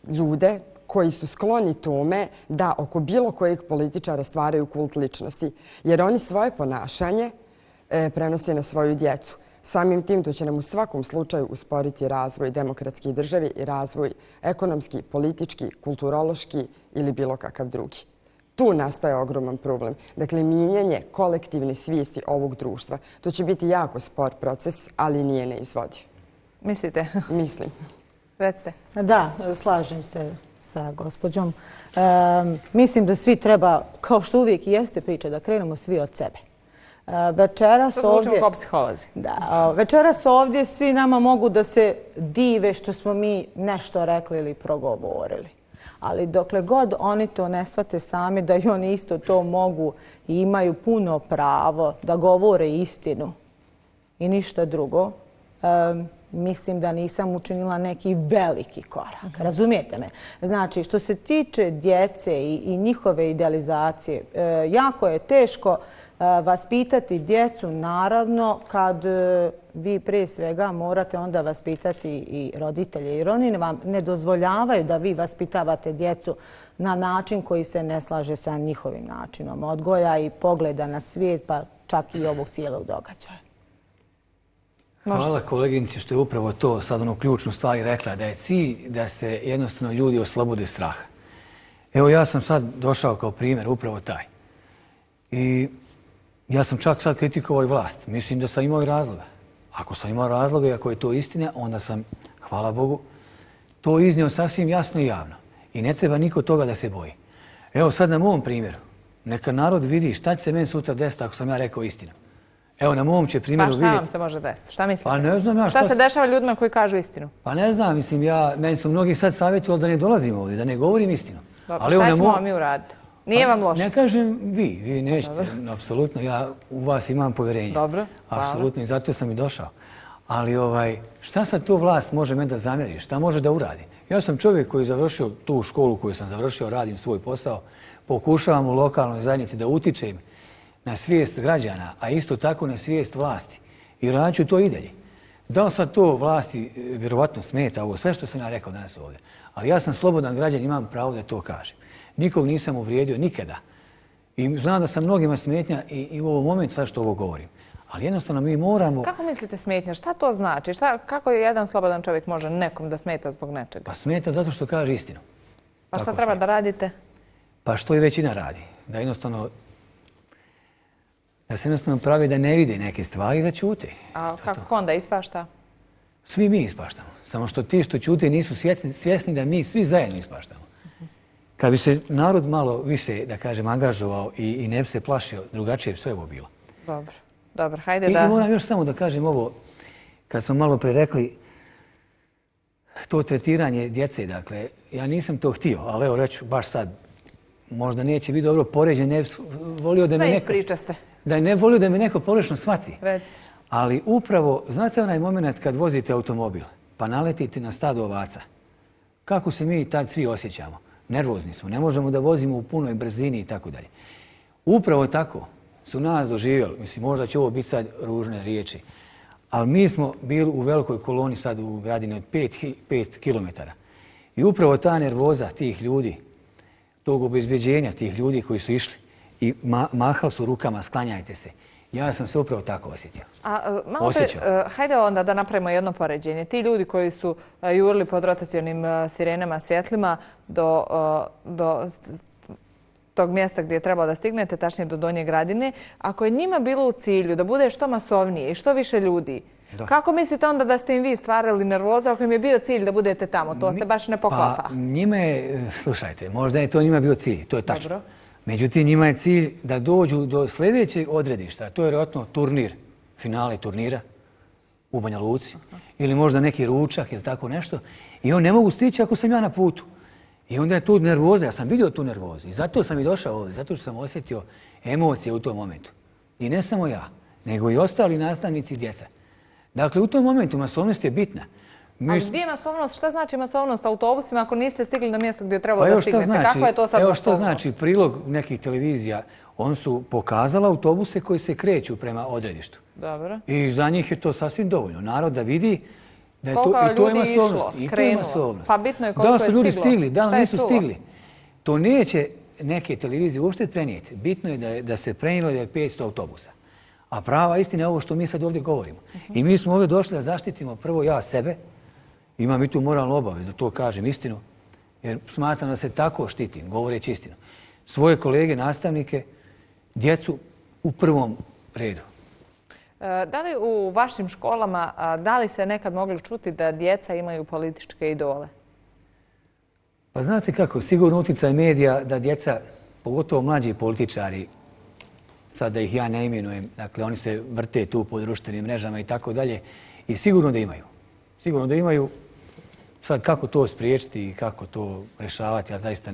ljude koji su skloni tome da oko bilo kojeg političara stvaraju kult ličnosti. Jer oni svoje ponašanje prenose na svoju djecu. Samim tim to će nam u svakom slučaju usporiti razvoj demokratske države i razvoj ekonomski, politički, kulturološki ili bilo kakav drugi. Tu nastaje ogroman problem. Dakle, mijenjanje kolektivne svijesti ovog društva. To će biti jako spor proces, ali nije neizvodiv. Mislite? Mislim. Recite. Da, slažem se sa gospođom. Mislim da svi treba, kao što uvijek i jeste priča, da krenemo svi od sebe. Večeras ovdje... kao psiholozi. Da, večeras ovdje svi nama mogu da se dive što smo mi nešto rekli ili progovorili. Ali dokle god oni to ne shvate sami da i oni isto to mogu i imaju puno pravo da govore istinu i ništa drugo, mislim da nisam učinila neki veliki korak. Razumijete me? Znači, što se tiče djece i njihove idealizacije, jako je teško vaspitati djecu, naravno, kad vi prije svega morate onda vaspitati i roditelje. Jer oni vam ne dozvoljavaju da vi vaspitavate djecu na način koji se ne slaže sa njihovim načinom odgoja i pogleda na svijet, pa čak i ovog cijelog događaja. Hvala koleginici što je upravo to sad ono ključnu stvari rekla, da je cilj da se jednostavno ljudi oslobode straha. Evo ja sam sad došao kao primjer upravo taj. I ja sam čak sad kritikovao i vlast. Mislim da sam imao i razloga. Ako sam imao razloga i ako je to istina, onda sam, hvala Bogu, to iznio sasvim jasno i javno. I ne treba niko toga da se boji. Evo sad na mom primjeru. Neka narod vidi šta će se meni sutra desiti ako sam ja rekao istinu. Evo na mom će primjeru vidjeti... Pa šta vam se može desiti? Šta mislite? Pa ne znam ja šta se dešava ljudima koji kažu istinu? Pa ne znam, mislim, meni su mnogi sad savjetovali da ne dolazim ovdje, da ne govorim istinu. Dobro, šta ćemo mi uraditi? Nije vam loše? Ne kažem vi nećete, apsolutno, ja u vas imam povjerenje. Dobro, hvala. Apsolutno, i zato sam i došao. Ali šta sad to vlast može meni da zamjeri? Šta može da uradi? Ja sam čovjek koji je završio tu školu koju sam završio, radim svoj posao, pokušavam u lokalnoj zajednici da utičem na svijest građana, a isto tako na svijest vlasti. I radit ću to i dalje. Da li sad to vlasti vjerovatno smeta ovo, sve što sam ja rekao danas ovdje. Ali ja sam slobodan građan, imam pravo da to kažem. Nikog nisam uvrijedio nikada. I znam da sam mnogima smetnja i u ovom momentu sad što ovo govorim. Ali jednostavno mi moramo... Kako mislite smetnja? Šta to znači? Kako jedan slobodan čovjek može nekom da smeta zbog nečega? Pa smeta zato što kaže istinu. Pa šta treba da radite? Pa što i većina radi. Da se jednostavno pravi da ne vide neke stvari i da ćute. A kako onda ispašta? Svi mi ispaštamo. Samo što ti što ćute nisu svjesni da mi svi zajedno ispaštamo. Kad bi se narod malo više, da kažem, angažovao i ne bi se plašio, drugačije bi sve ovo bilo. Dobro, hajde da... I moram još samo da kažem ovo, kad smo malo pre rekli, to tretiranje djece, dakle, ja nisam to htio, ali evo reću baš sad, možda neće biti dobro poređen, ne volio da me neko... Sve ispričaste. Da ne volio da me neko pogrešno shvati. Recite. Ali upravo, znate onaj moment kad vozite automobil, pa naletite na stado ovaca, kako se mi tad svi osjećamo? Nervozni smo, ne možemo da vozimo u punoj brzini i tako dalje. Upravo tako su nas doživjeli, mislim, možda će ovo biti sad ružne riječi, ali mi smo bili u velikoj koloni sad u gradini od 5 kilometara. I upravo ta nervoza tih ljudi, tog obezbeđenja tih ljudi koji su išli i mahali su rukama, sklanjajte se. Ja sam se upravo tako osjetio. Hajde onda da napravimo jedno poređenje. Ti ljudi koji su jurili pod rotacionim sirenama, svjetlima do tog mjesta gdje je trebalo da stignete, tačnije do Donje Gradine, ako je njima bilo u cilju da bude što masovnije i što više ljudi, kako mislite onda da ste im vi stvarali nervozu ako im je bio cilj da budete tamo? To se baš ne poklapa. Pa njima je, slušajte, možda je to njima bio cilj, to je tačno. Međutim, njima je cilj da dođu do sljedećeg odredišta, to je vjerojatno turnir, finale turnira u Banja Luci ili možda neki ručak ili tako nešto i on ne mogu stići ako sam ja na putu. I onda je tu nervoza, ja sam vidio tu nervozu i zato sam i došao ovdje, zato što sam osjetio emocije u tom momentu. I ne samo ja, nego i ostali nastavnici i djeca. Dakle, u tom momentu masovnost je bitna. Ali gdje je masovnost? Šta znači masovnost autobusima ako niste stigli na mjesto gdje je trebalo da stignete? Kakva je to sad masovnost? Evo što znači prilog nekih televizija. Oni su pokazali autobuse koji se kreću prema odredištu. Dobro. I za njih je to sasvim dovoljno. Narod da vidi da je koliko to, i to je ljudi masovnost. išlo, I to je masovnost. Pa bitno je koliko je stiglo. Da li su ljudi stigli, da li nisu čulo? stigli. To neće neke televizije uopšte prenijeti. Bitno je da se prenijelo da je 500 autobusa. A prava istina je ovo što mi sad ovdje govorimo. I mi smo ovdje došli da zaštitimo prvo ja sebe. Imam i tu moralnu obavezu da to kažem istinu. Jer smatram da se tako štitim, govoreći istinu. Svoje kolege, nastavnike, djecu u prvom redu. Da li u vašim školama, da li se nekad mogli čuti da djeca imaju političke idole? Pa znate kako, sigurno utjecaj medija da djeca, pogotovo mlađi političari, sad da ih ja ne imenujem, dakle oni se vrte tu po društvenim mrežama i tako dalje, i sigurno da imaju. Sigurno da imaju. Sad kako to spriječiti i kako to rješavati, ja zaista...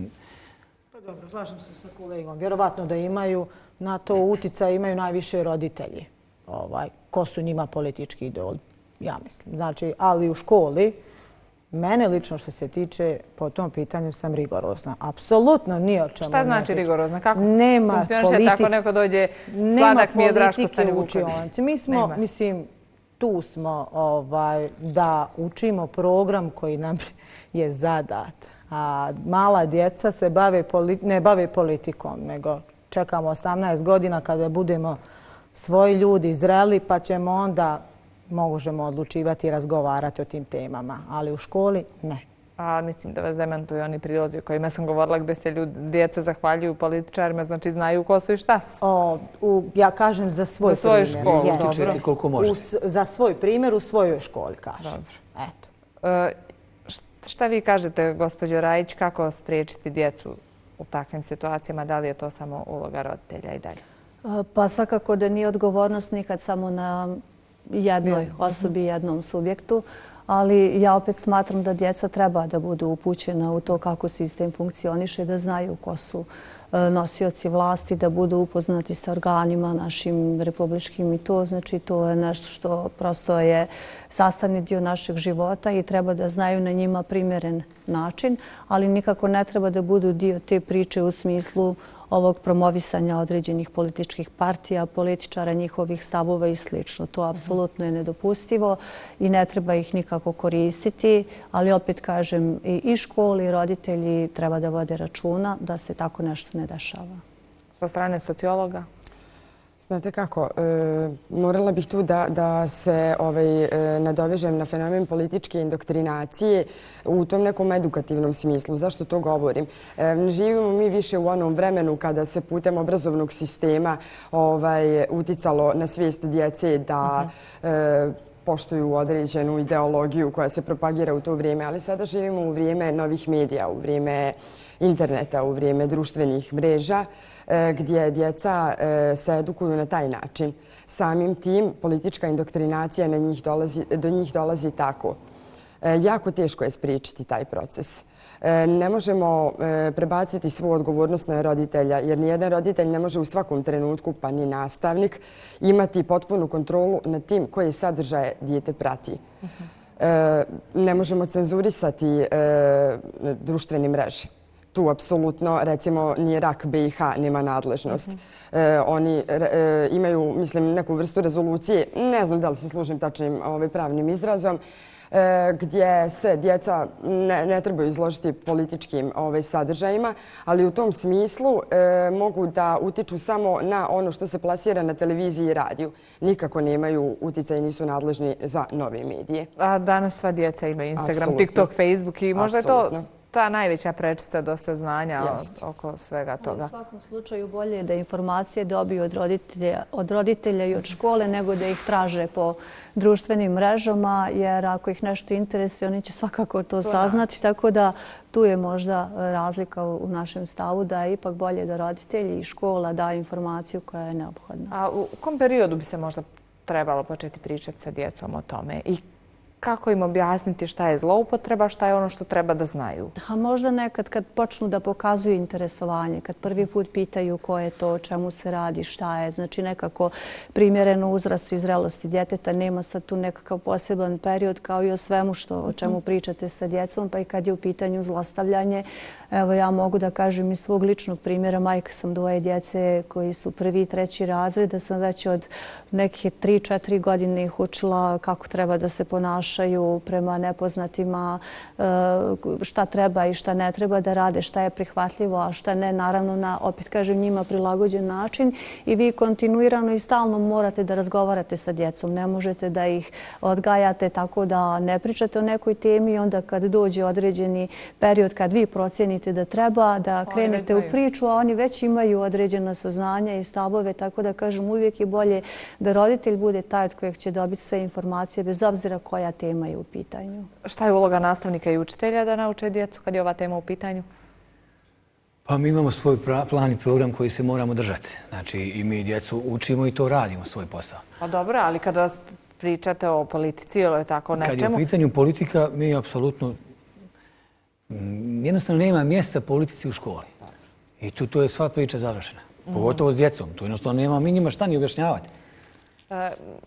Pa dobro, slažem se sa kolegom. Vjerovatno da imaju, na to utjecaj imaju najviše roditelji. Ko su njima politički idoli, ja mislim. Znači, ali u školi, mene lično što se tiče, po tom pitanju sam rigorozna. Apsolutno nije o čemu. Šta znači rigorozna? Kako funkcioniše tako neko dođe sladak mi je Draško Stanje Vuković? Mi smo, mislim, tu smo da učimo program koji nam je zadat. A mala djeca se ne bave politikom, nego čekamo 18 godina kada budemo svoji ljudi zreli, pa ćemo onda možemo odlučivati i razgovarati o tim temama. Ali u školi ne. A mislim da vas demantuju oni prilozi o kojima sam govorila gdje se djeca zahvaljuju političarima, znači znaju ko su i šta su. Ja kažem za svoj primjer. Za svoju školu, dobro. Koliko možete. Za svoj primjer u svojoj školi, kažem. Eto. Šta vi kažete, gospođo Rajić, kako spriječiti djecu u takvim situacijama? Da li je to samo uloga roditelja i dalje? Pa svakako da nije odgovornost nikad samo na jednoj osobi, jednom subjektu, ali ja opet smatram da djeca treba da budu upućena u to kako sistem funkcioniše, da znaju ko su nosioci vlasti, da budu upoznati sa organima našim republičkim i to. Znači, to je nešto što prosto je sastavni dio našeg života i treba da znaju na njima primjeren način, ali nikako ne treba da budu dio te priče u smislu ovog promovisanja određenih političkih partija, političara, njihovih stavova i sl. To apsolutno je nedopustivo i ne treba ih nikako koristiti, ali opet kažem i školi i roditelji treba da vode računa da se tako nešto ne dešava. Sa strane sociologa? Znate kako, morala bih tu da se nadovežem na fenomen političke indoktrinacije u tom nekom edukativnom smislu. Zašto to govorim? Ne živimo mi više u onom vremenu kada se putem obrazovnog sistema uticalo na svijest djece da poštuju određenu ideologiju koja se propagira u to vrijeme, ali sada živimo u vrijeme novih medija, u vrijeme interneta, u vrijeme društvenih mreža, gdje djeca se edukuju na taj način. Samim tim politička indoktrinacija do njih dolazi tako. Jako teško je spriječiti taj proces. Ne možemo prebaciti svu odgovornost na roditelja, jer nijedan roditelj ne može u svakom trenutku, pa ni nastavnik, imati potpunu kontrolu nad tim koje sadržaje dijete prati. Ne možemo cenzurisati društvene mreže. Tu apsolutno, recimo, ni RAK BiH nema nadležnost. Oni imaju, mislim, neku vrstu rezolucije, ne znam da li se služim tačnim pravnim izrazom, gdje se djeca ne trebaju izložiti političkim sadržajima, ali u tom smislu mogu da utiču samo na ono što se plasira na televiziji i radiju. Nikako nemaju utjecaj i nisu nadležni za nove medije. A danas sva djeca imaju Instagram, TikTok, Facebook i možda je to ta najveća prečica do saznanja oko svega toga. U svakom slučaju bolje je da informacije dobiju od roditelja i od škole nego da ih traže po društvenim mrežama, jer ako ih nešto interesuje, oni će svakako to saznati. Tako da tu je možda razlika u našem stavu da je ipak bolje da roditelji i škola daju informaciju koja je neophodna. A u kom periodu bi se možda trebalo početi pričati sa djecom o tome i kako im objasniti šta je zloupotreba, šta je ono što treba da znaju? A možda nekad kad počnu da pokazuju interesovanje, kad prvi put pitaju ko je to, o čemu se radi, šta je, znači nekako primjereno uzrastu i zrelosti djeteta, nema sad tu nekakav poseban period kao i o svemu o čemu pričate sa djecom, pa i kad je u pitanju zlostavljanje. Evo ja mogu da kažem iz svog ličnog primjera, majka sam dvoje djece koji su 1. i 3. razred, da sam već od neke 3-4 godine ih učila kako treba da se ponašaju prema nepoznatima, šta treba i šta ne treba da rade, šta je prihvatljivo, a šta ne, naravno na, opet kažem, njima prilagođen način i vi kontinuirano i stalno morate da razgovarate sa djecom. Ne možete da ih odgajate tako da ne pričate o nekoj temi i onda kad dođe određeni period kad vi procijenite da treba da krenete u priču, a oni već imaju određena saznanja i stavove, tako da kažem uvijek je bolje da roditelj bude taj od kojeg će dobiti sve informacije bez obzira koja tema je u pitanju. Šta je uloga nastavnika i učitelja da nauče djecu kad je ova tema u pitanju? Pa mi imamo svoj plan i program koji se moramo držati. Znači i mi djecu učimo i to radimo svoj posao. Pa dobro, ali kada vas pričate o politici ili tako nečemu... Kad je u pitanju politika, mi apsolutno jednostavno nema mjesta politici u školi. I tu je sva priča završena. Pogotovo s djecom. Tu jednostavno nema mi njima šta ni objašnjavati.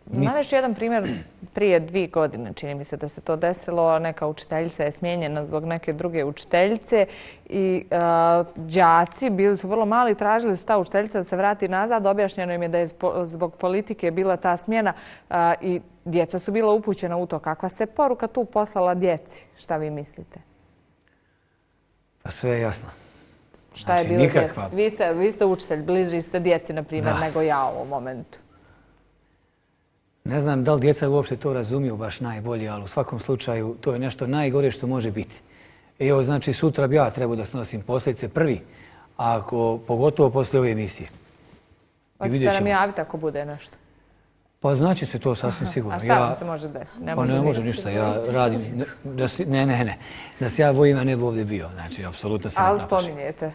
Navešću jedan primjer prije 2 godine, čini mi se da se to desilo. Neka učiteljica je smijenjena zbog neke druge učiteljice i đaci bili su vrlo mali, tražili su ta učiteljica da se vrati nazad. Objašnjeno im je da je zbog politike bila ta smjena i djeca su bila upućena u to. Kakva se poruka tu poslala djeci? Šta vi mislite? Pa sve je jasno. Šta je bilo djeci? Vi ste učitelj, bliži ste djeci, na primjer, nego ja u ovom momentu. Ne znam da li djeca uopšte to razumiju baš najbolje, ali u svakom slučaju to je nešto najgore što može biti. Evo, znači, sutra bi ja trebao da snosim posljedice prvi, pogotovo poslije ove emisije. Hoćete nam javiti ako bude nešto? Pa znači se to sasvim sigurno. A šta vam se može desiti? Ne može ništa. Ja radim... Ne. Da se ja bojim, a ne bi ovdje bio. Znači, apsolutno se ne naplašim. Ali spominjete?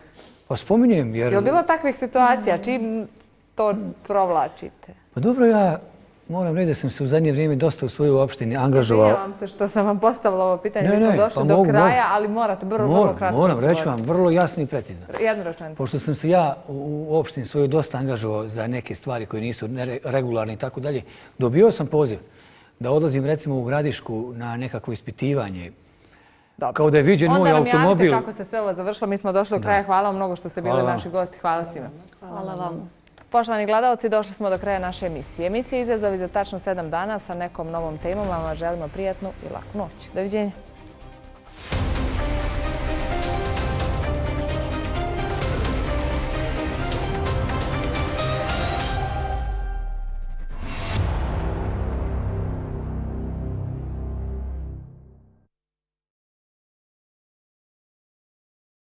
Pa spominjem jer... Je li bilo takvih situacija? Čim to provlačite? Pa dobro, ja moram reći da sam se u zadnje vrijeme dosta u svojoj opštini angažovao. Izvinjavam se što sam vam postavila ovo pitanje. Mi smo došli do kraja, ali morate vrlo kratko. Moram, reći vam vrlo jasno i precizno. Jednu rečenicu. Pošto sam se ja u opštini svojoj dosta angažovao za neke stvari koje nisu regularne i tako dalje, dobio sam poziv da odlazim recimo u Gradišku na nekakvo ispitivanje. Kao da je viđen moj automobil. Onda nam javite kako se sve ovo završilo. Mi smo došli do kraja. Hvala vam mnogo što ste bili naši gosti. Hvala svima. Hvala vam. Poštovani gledalci, došli smo do kraja naše emisije. Emisija Izazovi za tačno 7 dana sa nekom novom temom. Vam želimo prijatnu i laku noć. Doviđenja.